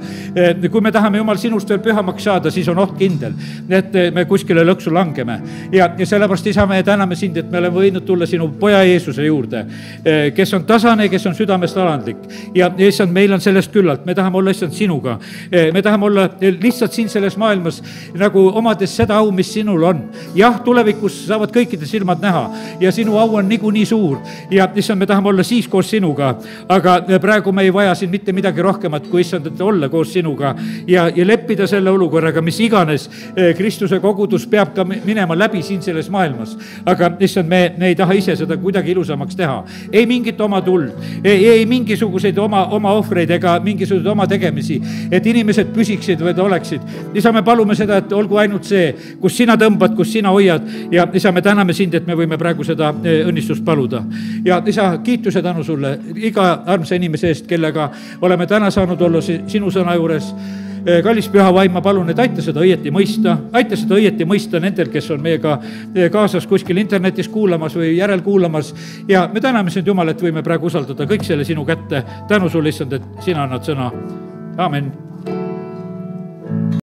Speaker 1: kui me tahame, Jumal, sinust veel pühamaks saada, siis on oht kindel, et me kuskile lõksu langeme. ja, ja sellepärast, isa, me täname sind, et me oleme võinud tulla sinu poja Jeesuse juurde, kes on tasane, kes on südamest alandlik. ja issand, meil on sellest küllalt, me tahame olla, issand, sinuga. me tahame olla lihtsalt siin selles maailmas nagu omades seda au, mis sinul on. jah, tulevikus saavad kõikide silmad näha ja sinu au on niikuinii suur ja issand, me tahame olla siis koos sinuga, aga praegu me ei vaja siin mitte midagi rohkemat, kui issand, et olla koos sinuga ja, ja leppida selle olukorraga, mis iganes Kristuse kogudus peab ka minema läbi siin selles maailmas. aga issand, me, me ei taha ise seda kuidagi ilusamaks teha. ei mingit oma tuld, ei, ei mingisuguseid oma, oma ohvreid ega mingisuguseid oma tegemisi, et inimesed püsiksid või oleksid. isa, me palume seda, et olgu ainult see, kus sina tõmbad, kus sina hoiad ja isa, me täname sind, et me võime praegu seda õnnistust paluda. ja isa, kiitus ja tänu sulle iga armsa inimese eest, kellega oleme täna saanud olla sinu sõna juures. kallis püha vaim, ma palun, et aita seda õieti mõista, aita seda õieti mõista nendel, kes on meiega kaasas kuskil internetis kuulamas või järelkuulamas. ja me täname sind, Jumal, et võime praegu usaldada kõik selle sinu kätte. tänu sulle, issand, et sina annad sõna. Aamen.